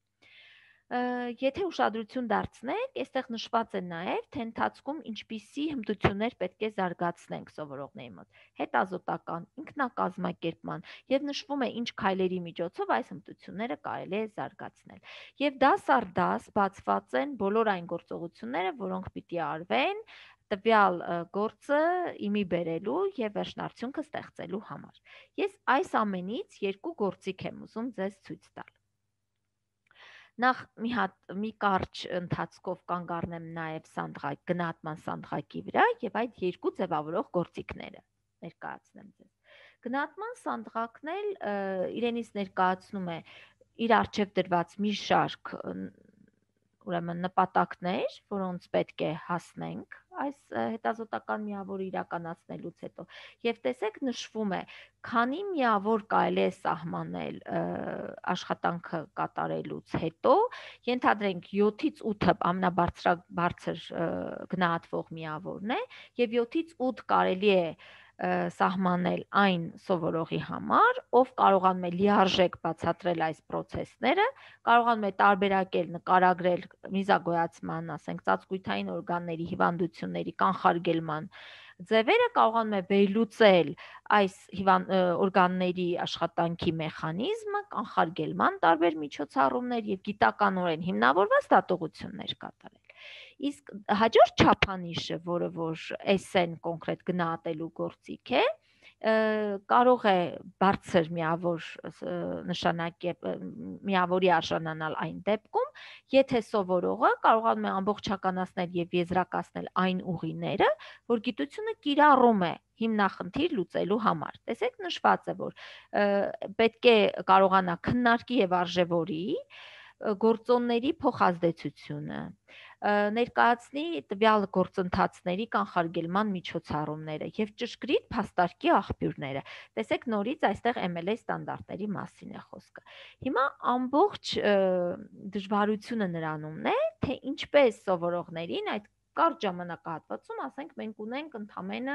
Եթե ուշադրություն դարձնենք, այստեղ նշված է նաև, թե ընթացքում ինչպիսի հմտություններ պետք է զարգացնենք սովորողների մոտ, հետազոտական, ինքնակազմակերպման եւ նշվում է ինչ քայլերի միջոցով այս հմտությունները կարելի է զարգացնել։ Եվ դաս առ դաս բացված են բոլոր այն գործողությունները, որոնք պիտի արվեն տվյալ գործը իմի բերելու եւ վերջնարդյունքը ստեղծելու համար։ Ես այս ամենից երկու գործիք եմ ուզում ձեզ ցույց տալ։ Նախ մի հատ մի կարճ ընթացքով կանգ առնեմ նաև սանդղակ, գնահատման սանդղակի վրա եւ այդ երկու ձևավորող գործիքները ներկայացնեմ ձեզ։ Գնահատման սանդղակն էլ իրենից ներկայացնում է իր առջև դրված մի շարք ուրեմն նպատակներ, որոնց պետք է հասնենք այս հետազոտական միավորը իրականացնելուց հետո եւ տեսեք նշվում է քանի միավոր կարելի է սահմանել աշխատանքը կատարելուց հետո, ենթադրենք յոթից ութը ամենաբարձր գնահատվող միավորն է եւ յոթից ութ կարելի է սահմանել այն սովորողի համար, ով կարողանում է լիարժեք բացատրել այս process-ները, կարողանում է տարբերակել, նկարագրել միզագոյացման, ասենք, ծածկույթային օրգանների հիվանդությունների կանխարգելման ձևերը, կարողանում է վերլուծել այս օրգանների աշխատանքի մեխանիզմը, կանխարգելման տարբեր միջոցառումներ եւ գիտականորեն հիմնավորված դատողություններ կատարել։ Իսկ հաջորդ չափանիշը, որը որ էսեն կոնկրետ գնահատելու գործիք է, կարող է բարձր միավոր նշանակի միավորի արժանանալ այն դեպքում, եթե սովորողը կարողանում է ամբողջականացնել եւ եզրակացնել այն ուղիները, որ գիտությունը կիրառում է հիմնախնդիր լուծելու համար։ Տեսեք, նշված է, որ պետք է կարողանա քննարկի եւ արժևորի գործոնների փոխազդեցությունը, ներկայացնի տվյալ գործընթացների կանխարգելման միջոցառումները եւ ճշգրիտ փաստարկի աղբյուրները։ Տեսեք, նորից այստեղ M L A ստանդարտների մասին է խոսքը։ Հիմա ամբողջ դժվարությունը նրանումն է, թե ինչպես սովորողներին այդ կարճ ժամանակահատվածում, ասենք, մենք ունենք ընդամենը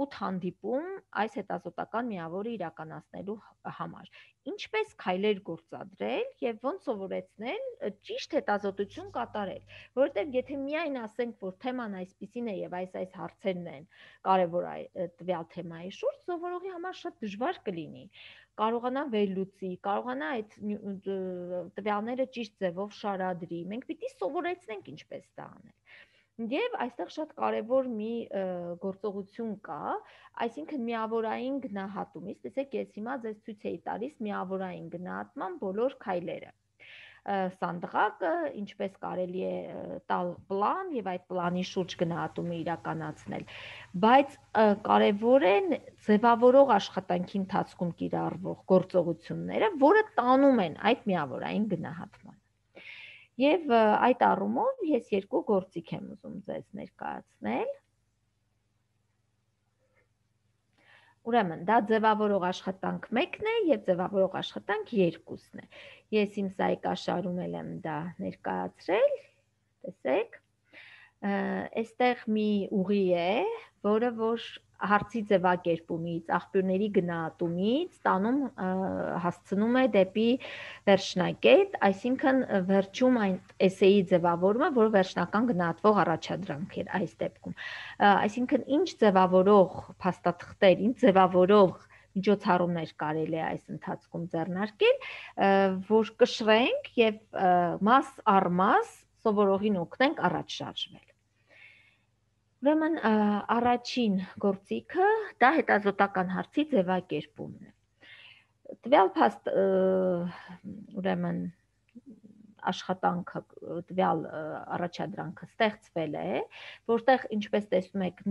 ութ հանդիպում այս հետազոտական միավորը իրականացնելու համար։ Ինչպես քայլեր գործադրել եւ ոնց սովորեցնել ճիշտ հետազոտություն կատարել, որովհետեւ եթե միայն ասենք, որ թեման այսպեսին է եւ այս այս հարցերն են կարեւոր տվյալ թեմայի շուրջ, սովորողի համար շատ դժվար կլինի կարողանա վերլուծի, կարողանա այդ տվյալները ճիշտ ձևով շարադրի։ Մենք պիտի սովորեցնենք ինչպես դա անել։ Եվ այստեղ շատ կարևոր մի գործողություն կա, այսինքն միավորային գնահատումից, տեսեք, ես հիմա ձեզ ցույց էի տալիս միավորային գնահատման բոլոր քայլերը։ Սանդղակը, ինչպես կարելի է տալ պլան եւ այդ պլանի շուրջ գնահատումը իրականացնել, բայց կարևոր են ձևավորող աշխատանքի ընթացքում կիրառվող գործողությունները, որը տանում են այդ միավորային գնահատման։ Եվ այդ առումով ես երկու գործիք եմ ուզում ձեզ ներկայացնել։ Ուրեմն, դա ձևավորող աշխատանք մեկն է եւ ձևավորող աշխատանք երկուսն է։ Ես իմ սայկաշարում եմ դա ներկայացրել, տեսեք, այստեղ մի ուղի է, որը որ հարցի ձևակերպումից, աղբյուրների գնահատումից տանում հասցնում է դեպի վերջնակետ, այսինքն վերջում այն էսեի ձևավորումը, որը վերջնական գնահատվող առաջադրանք էր այս դեպքում։ Այսինքն ինչ ձևավորող փաստաթղթեր, ինչ ձևավորող միջոցառումներ կարելի է այս ընթացքում ձեռնարկել, որ կշռենք եւ մաս առ մաս սովորողին օգնենք առաջ շարժվել։ Ուրեմն առաջին գործիքը դա հետազոտական հարցի ձևակերպումն է։ Տվյալ փաստ ուրեմն աշխատանքը, տվյալ առաջադրանքը ստեղծվել է, որտեղ ինչպես տեսնում եք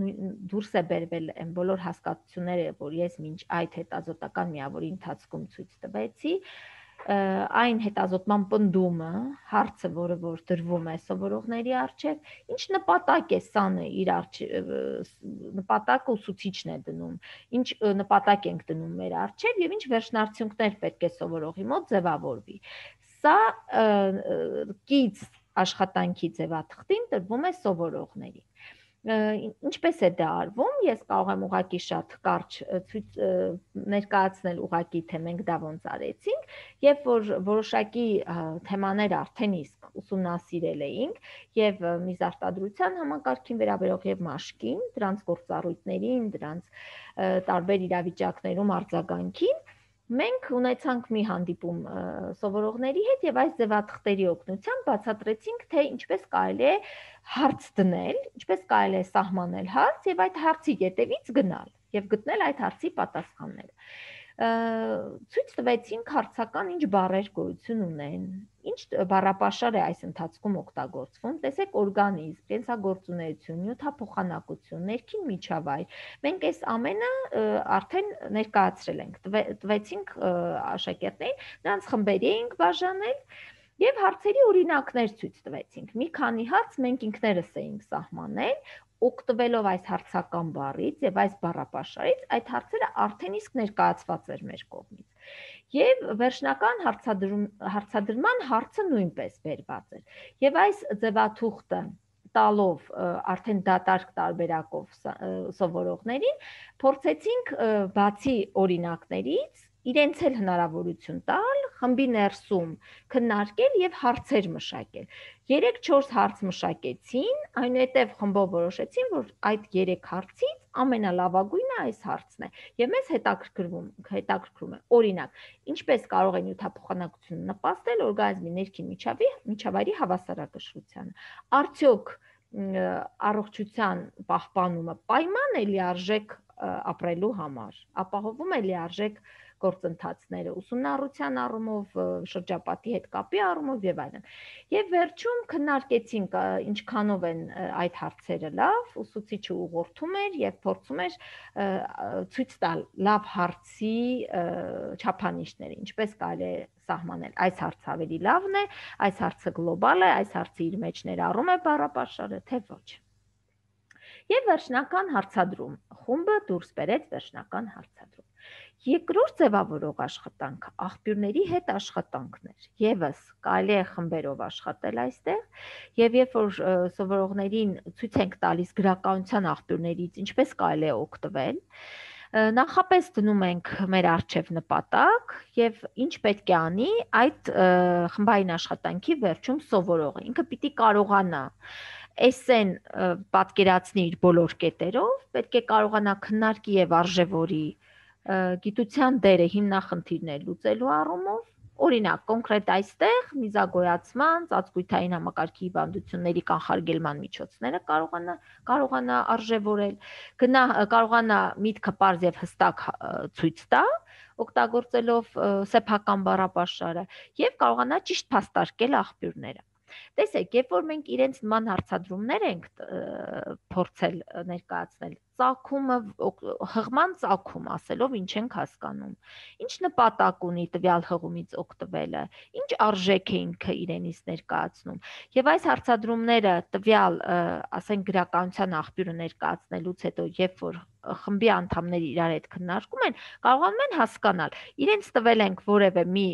դուրս է բերվել այն բոլոր հասկացությունները, որ ես մինչ այդ հետազոտական միավորի ընթացքում ցույց տվեցի, այն հետազոտման պնդումը, հարցը, որը որ դրվում է սովորողների առջև, ինչ նպատակ է սանը իր առջև, նպատակը ուսուցիչն է դնում, ինչ նպատակ ենք դնում մեր առջև եւ ինչ վերջնարդյունքներ պետք է սովորողի մոտ ձևավորվի։ Սա կից աշխատանքի ձևաթղթին տրվում է սովորողներին։ Ինչպես է դա արվում, ես կարող եմ ուղղակի շատ կարճ ցույց ներկայացնել ուղղակի, թե մենք դա ոնց արեցինք, եւ որ որոշակի թեմաներ արդեն իսկ ուսումնասիրել էինք եւ միզարտադրության համակարգին վերաբերող եւ մաշկին, դրանց գործառույթներին, դրանց տարբեր իրավիճակներում արձագանքին, մենք ունեցանք մի հանդիպում սովորողների հետ եւ այս ձևաթղթերի օգնությամբ բացատրեցինք, թե ինչպես կարելի է հարց դնել, ինչպես կարելի է սահմանել հարց եւ այդ հարցի ետևից գնալ եւ գտնել այդ հարցի պատասխանները։ Ցույց տվեցինք հարցական ինչ բառեր գոյություն ունեն, ինչ բառապաշար է այս ընթացքում օգտագործվում, տեսեք, օրգանիզմ, կենսագործունեություն, նյութափոխանակություն, ներքին միջավայր։ Մենք այս ամենը արդեն ներկայացրել ենք, տվեցինք աշակերտներին, նրանց խմբերի էինք բաժանել եւ հարցերի օրինակներ ցույց տվեցինք։ Մի քանի հարց մենք ինքներս էինք սահմանել, օգտվելով այս հարցական բառից եւ այս բառապաշարից, այդ հարցերը արդեն իսկ ներկայացված էր մեր կողմից։ Եվ վերջնական հարցադրում հարցադրման հարցը նույնպես վերված էր։ Եվ այս ձևաթուղթը տալով արդեն դատարկ տարբերակով սովորողներին փորձեցինք բացի օրինակներից իրենց էլ հնարավորություն տալ խմբի ներսում քննարկել եւ հարցեր մշակել։ երեք-չորս հարց մշակեցին, այնուհետև խմբով որոշեցին, որ այդ երեք հարցից ամենալավագույնը այս հարցն է եւ մեզ հետաքրքրվում հետաքրքրում է օրինակ ինչպես կարող է նյութափոխանակությունը նպաստել օրգանիզմի ներքին միջավայրի հավասարակշռությանը, արդյոք առողջության պահպանումը պայման է լիարժեք ապրելու համար, ապահովում է լիարժեք գործընթացները ուսումնառության առումով, շրջապատի հետ կապի առումով եւ այլն։ Եվ վերջում քննարկեցինք ինչքանով են այդ հարցերը լավ, ուսուցիչը ուղղորդում էր եւ փորձում էր ցույց տալ լավ հարցի չափանիշները, ինչպես կարելի է սահմանել այս հարցը ավելի լավն է, այս հարցը գլոբալ է, այս հարցը իր մեջ ներառում է բառապաշարը, թե ոչ։ Եվ վերջնական հարցադրում, խումբը դուրս բերեց վերջնական հարցադրում։ Երկրորդ ձևավորող աշխատանքը աղբյուրների հետ աշխատանքն էր։ Եվս կարելի է խմբերով աշխատել այստեղ, եւ երբ որ սովորողներին ցույց ենք տալիս գրականության աղբյուրներից, ինչպես կարելի է օգտվել, նախապես դնում ենք մեր առջև նպատակ եւ ինչ պետք է անի այդ խմբային աշխատանքի վերջում սովորողը։ Ինքը պիտի կարողանա էսեն պատկերացնի իր բոլոր կետերով, պետք է կարողանա քննարկի եւ արժևորի գիտության դերը հիմնախնդիրներ լուծելու առումով, օրինակ, կոնկրետ այստեղ միզագոյացման, ծածկույթային համակարգի հիվանդությունների կանխարգելման միջոցները կարողանա կարողանա արժևորել, գնա կարողանա միտքը պարզ եւ հստակ ցույց տա, օգտագործելով սեփական բառապաշարը եւ կարողանա ճիշտ փաստարկել աղբյուրները։ Տեսեք, երբ որ մենք իրենց նման հարցադրումներ ենք փորձել ներկայացնել, ծագումը, հղման ծագում ասելով ինչ ենք հասկանում, ինչ նպատակ ունի տվյալ հղումից օգտվելը, ինչ արժեք է ինքը իրենից ներկայացնում, եւ այս հարցադրումները տվյալ, ասենք, գրականության աղբյուրը ներկայացնելուց հետո, երբ որ խմբի անդամները իրար հետ քննարկում են, կարողանում են հասկանալ, իրենց տվել ենք որևէ մի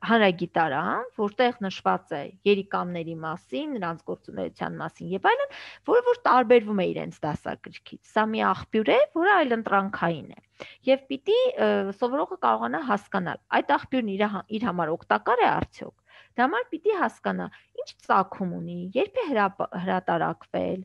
հանրագիտարան, որտեղ նշված է երիկամների մասին, նրանց գործունեության մասին եւ այլն, որը որ տարբերվում է իրենց դասագրքից։ Սա մի աղբյուր է, որը այլընտրանքային է։ Եվ պիտի սովորողը կարողանա հասկանալ, այդ աղբյուրն իր, իր համար օգտակար է արդյոք։ Դա համար պիտի հասկանա, ինչ ծագում ունի, երբ է հրատարակվել,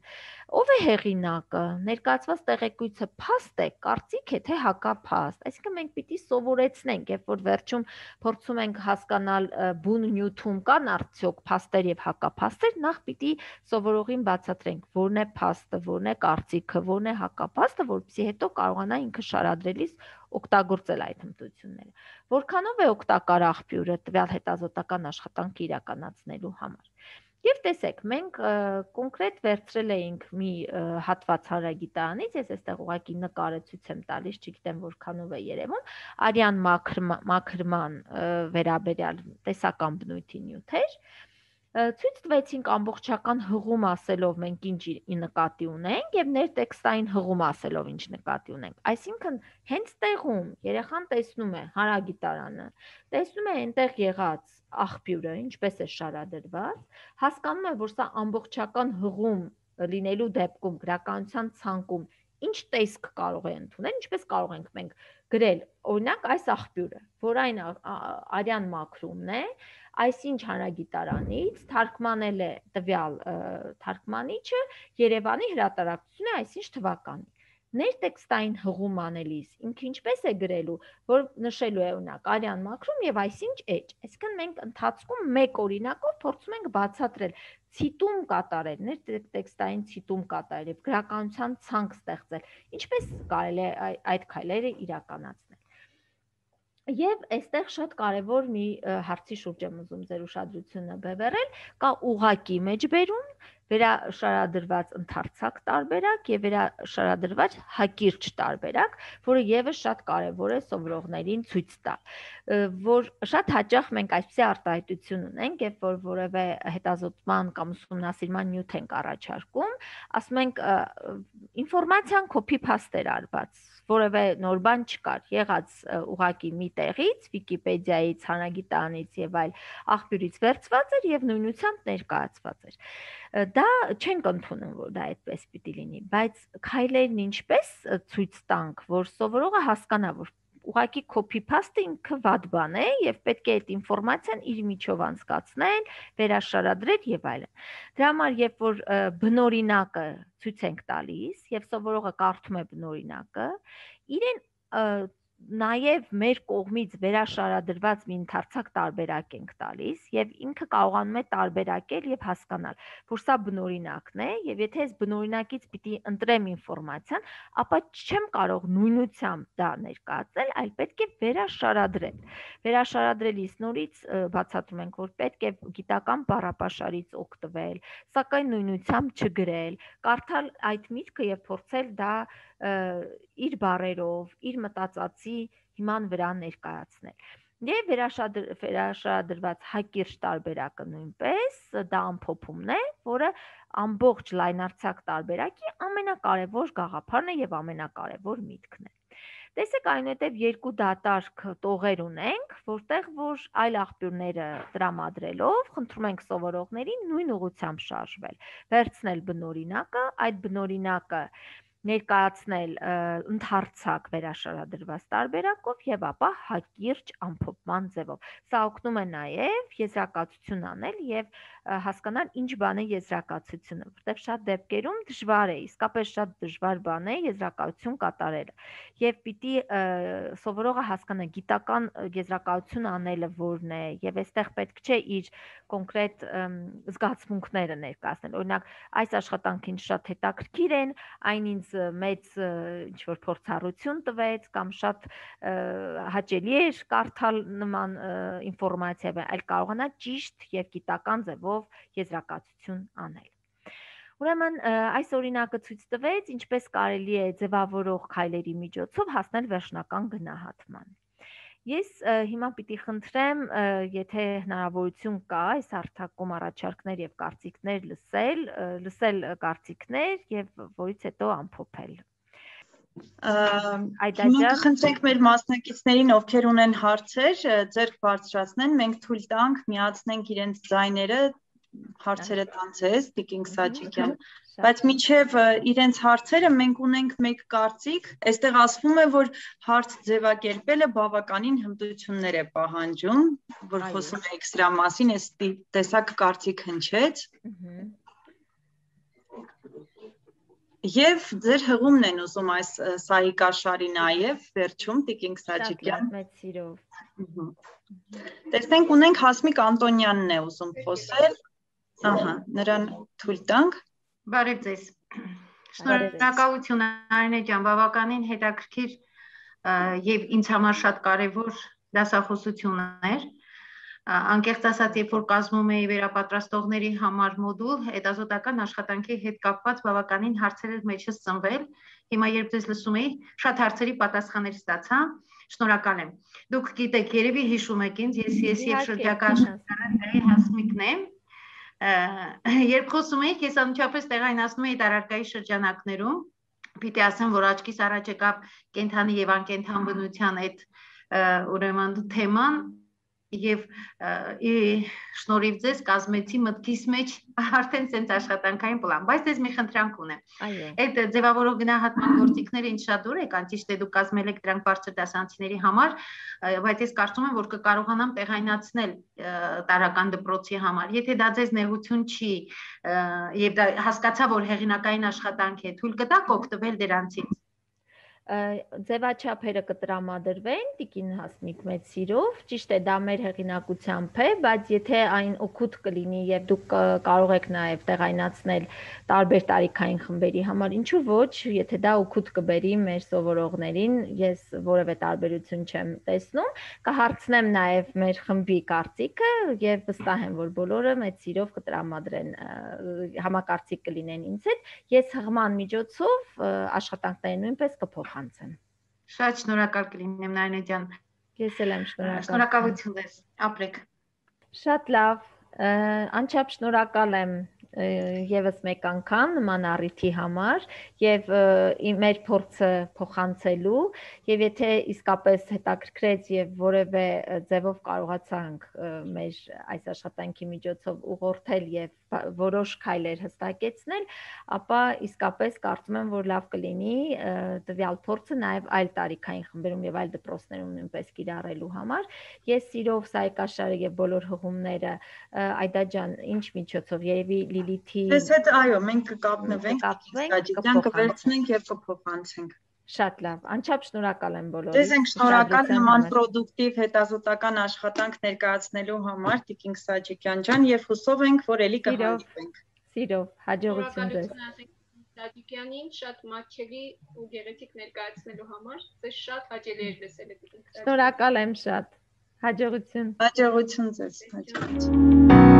ով է հեղինակը, ներկայացված տեղեկույթը փաստ է, կարծիք է, թե հակափաստ։ Այսինքն մենք պիտի սովորեցնենք, երբ որ վերջում փորձում ենք հասկանալ բուն նյութում կան արդյոք փաստեր եւ հակափաստեր, նախ պիտի սովորողին բացատրենք, որն է փաստը, որն է կարծիքը, որն է հակափաստը, որպեսզի հետո կարողանա ինքը շարադրելիս օգտագործել այդ հմտությունները։ Որքանով է օգտակար աղբյուրը տվյալ հետազոտական աշխատանքը իրականացնելու համար։ Եվ տեսեք, մենք կոնկրետ վերցրել էինք մի հատված հանրագիտարանից, ես այստեղ ուղղակի նկարը ցույց եմ տալիս, չգիտեմ որքանով է երևում, արյան մաքրման վերաբերյալ տեսական բնույթի նյութեր, ցույց տվեցինք ամբողջական հղում ասելով մենք ինչ նկատի ունենք եւ ներտեքստային հղում ասելով ինչ նկատի ունենք։ Այսինքն հենց տեղում երեխան տեսնում է հանրագիտարանը, տեսնում է այնտեղ եղած աղբյուրը, ինչպես է շարադրված, հասկանում է, որ սա ամբողջական հղում լինելու դեպքում գրականության ցանկում ինչ տեսք կարող է ընդունել, ինչպես կարող ենք մենք գրել, օրինակ այս աղբյուրը, որ այն արյան մաքրումն է, այսինչ հանրագիտարանից թարգմանել է տվյալ թարգմանիչը Երևանի հրատարակությունը այսինչ թվականի։ Ներտեքստային հղում անելիս ինքը ինչպես է գրելու, որ նշելու է օրինակ արյան մաքրում եւ այսինչ էջ։ Այսինքն մենք ընթացքում մեկ օրինակով փորձում ենք բացատրել, ցիտում կատարել, ներտեքստային ցիտում կատարել եւ գրականության ցանկ ստեղծել։ Ինչպես կարելի է այդ քայլերը իրականացնել։ Եվ այստեղ շատ կարևոր մի հարցի շուրջ եմ ուզում ձեր ուշադրությունը բևեռել, կա ուղղակի մեջբերում, վերաշարադրված ընդարձակ տարբերակ եւ վերաշարադրված հակիրճ տարբերակ, որը եւս շատ կարեւոր է սովորողներին ցույց տալ, որ շատ հաճախ մենք այսպիսի արտահայտություն ունենք, երբ որ որևէ հետազոտման կամ ուսումնասիրման նյութ ենք առաջարկում, ասում ենք ինֆորմացիան copy-paste էր արված, որևէ նոր բան չկար, եղած ուղղակի մի տեղից, Վիկիպեդիայից, հանրագիտարանից եւ այլ աղբյուրից վերցված էր եւ նույնությամբ ներկայացված էր։ Դա չենք ընդունում, որ դա այդպես պիտի լինի, բայց քայլերն ինչպես ցույց տանք, որ սովորողը հասկանա, որ ուղղակի copy-paste ինքը վատ բան է եւ պետք է այդ ինֆորմացիան իր միջով անցկացնել, վերաշարադրել եւ այլն։ Դրա համար, երբ որ բնօրինակը ցույց ենք տալիս եւ սովորողը կարդում է բնօրինակը, իրեն նաև մեր կողմից վերաշարադրված մի ընդարձակ տարբերակ ենք տալիս եւ ինքը կարողանում է տարբերակել եւ հասկանալ, որ սա բնօրինակն է եւ եթե ես բնօրինակից պիտի ընտրեմ ինֆորմացիան, ապա չեմ կարող նույնությամբ դա ներկայացնել, այլ պետք է վերաշարադրել։ Վերաշարադրելիս նորից բացատրում ենք, որ պետք է գիտական բառապաշարից օգտվել, սակայն նույնությամբ չգրել, կարդալ այդ միտքը եւ փորձել դա իր բառերով, իր մտածածի հիման վրա ներկայացնել։ Եվ վերաշարադրված հակիրճ տարբերակը նույնպես դա ամփոփումն է, որը ամբողջ լայնարձակ տարբերակի ամենակարևոր գաղափարն է եւ ամենակարևոր միտքն է։ Տեսեք, այնուհետև երկու դատարկ տողեր ունենք, որտեղ որ այլ աղբյուրները տրամադրելով, խնդրում ենք սովորողներին նույն ուղղությամբ շարժվել, վերցնել բնօրինակը, այդ բնօրինակը ներկայացնել ընդարձակ վերաշարադրված տարբերակով եւ ապա հակիրճ ամփոփման ձևով։ Սա օգնում է նաեւ եզրակացություն անել եւ հասկանալ ինչ բան է եզրակացությունը, որտեղ շատ դեպքերում դժվար է, իսկապես շատ դժվար բան է եզրակացություն կատարելը։ Եվ պիտի սովորողը հասկանա գիտական եզրակացություն անելը որն է եւ այստեղ պետք չէ իր կոնկրետ զգացմունքները ներկայացնել։ Օրինակ, այս աշխատանքին շատ հետաքրքիր են, այն ինձ մեծ ինչ-որ փորձառություն տվեց կամ շատ հաճելի էր կարդալ նման ինֆորմացիա, այլ կարողանա ճիշտ եւ գիտական ձևով եզրակացություն անել։ Ուրեմն այս օրինակը ցույց տվեց, ինչպես կարելի է ձևավորող քայլերի միջոցով հասնել վերջնական գնահատման։ Ես հիմա պիտի խնդրեմ, եթե հնարավորություն կա, այս հարթակում առաջարկներ եւ կարծիքներ լսել, լսել կարծիքներ եւ որից հետո ամփոփել։ Հիմա կխնդրենք մեր մասնակիցներին, ովքեր ունեն հարցեր, ձեռք բարձրացնեն, մենք թույլ տանք միացնենք իրենց ձայները, հարցերը տան ձեզ, Տիկին Սաջիկյան, բայց մինչև իրենց հարցերը մենք ունենք մեկ կարծիք, այստեղ ասվում է, որ հարց ձևակերպելը բավականին հմտություններ է պահանջում, որ խոսում եք սրա մասին, այս տեսակ կարծիք հնչեց։ Եվ ձեր հղումն են ուզում այս Սահիկաշարի նաև վերջում Տիկին Սաջիկյան։ Մեծ սիրով։ Տեսնենք ունենք Հասմիկ Անտոնյանն է ուզում խոսել։ Ահա, նրան թույլ տանք։ Բարև ձեզ։ Շնորհակալություն Արինե ջան, բավականին հետաքրքիր եւ ինձ համար շատ կարեւոր դասախոսություն էր։ Անկեղծ ասած, երբ որ կազմում էի վերապատրաստողների համար մոդուլ, հետազոտական աշխատանքի հետ կապված բավականին հարցեր էր մեջս ծնվել։ Հիմա երբ ձեզ լսում էի, շատ հարցերի պատասխաններ ստացա։ Շնորհակալ եմ։ Դուք գիտեք, երևի հիշում եք ինձ, ես ես եւ շրջակա աշխարհի Հասմիկն եմ։ Երբ խոսում էիք, ես անմիջապես տեղայնացնում էի տարարկայի շրջանակներում, պիտի ասեմ, որ աչքիս առաջ եկավ կենդանի եւ անկենդան բնության այդ ուրեմն թեման եւ շնորհիվ ձեզ կազմեցի մտքիս մեջ արդեն sense աշխատանքային պլան, բայց դες մի խնդրանք ունեմ։ Այդ ձևավորող գնահատման գործիքները ինձ շատ դուր եկան, ճիշտ է, դուք կազմել եք դրանք բարձր դասանցիների համար, բայց ես կարծում եմ, որ կկարողանամ տեղայնացնել տարական դպրոցի համար։ Եթե դա ձեզ նեղություն չի եւ դա հասկացա, որ հեղինակային աշխատանք է, թույլ կտաք օգտվել դրանցից։ Ձևաչափերը կտրամադրվեն Տիկին Հասմիկ մեծ սիրով, ճիշտ է, դա մեր հեղինակությամբ է, բայց եթե այն օգուտ կլինի եւ դուք կարող եք նաեւ տեղայնացնել տարբեր տարիքային խմբերի համար, ինչու ոչ, եթե դա օգուտ կբերի մեր սովորողներին, ես որևէ տարբերություն չեմ տեսնում, կհարցնեմ նաեւ մեր խմբի կարծիքը եւ վստահ եմ, որ բոլորը մեծ սիրով կտրամադրեն, համակարծիք կլինեն ինձ հետ, ես հղման միջոցով աշխատանքները նույնպես կփոխ Շատ շնորհակալ կլինեմ Նարինե ջան։ Ես էլ եմ շնորհակալ։ Շնորհակալություն ձեզ։ Ապրեք։ Շատ լավ։ Անչափ շնորհակալ եմ եւս մեկ անգամ նման առիթի համար եւ մեր փորձը փոխանցելու եւ եթե իսկապես հետաքրքրեց եւ որևէ ձևով կարողացանք մեր այս աշխատանքի միջոցով ուղղորդել եւ որոշ քայլեր հստակեցնել, ապա իսկապես կարծում եմ, որ լավ կլինի տվյալ փորձը նաեւ այլ տարիքային խմբերում եւ այլ դպրոցներում նույնպես կիրառելու համար։ Ես սիրով Սահիկաշարը եւ բոլոր հղումները Այդա ջան, ինչ միջոցով երևի Լիլիթի Ես հետ այո, մենք կկապնվենք, կկապվենք, կվերցնենք եւ կփոխանցենք։ Շատ լավ, անչափ շնորհակալ եմ բոլորին։ Ձեզ ենք շնորհակալ նման պրոդուկտիվ հետազոտական աշխատանք ներկայացնելու համար, Տիկին Սաջիկյան ջան, եւ հուսով ենք, որ ելի կհանդիպենք։ Սիրով, հաջողություն ձեզ։ Սաջիկյանին շատ մատչելի ու գեղեցիկ ներկայացնելու համար, ձեզ շատ հաճելի էր լսել։ Շնորհակալ եմ շատ։ Հաջողություն։ Հաջողություն ձեզ, հաջողություն։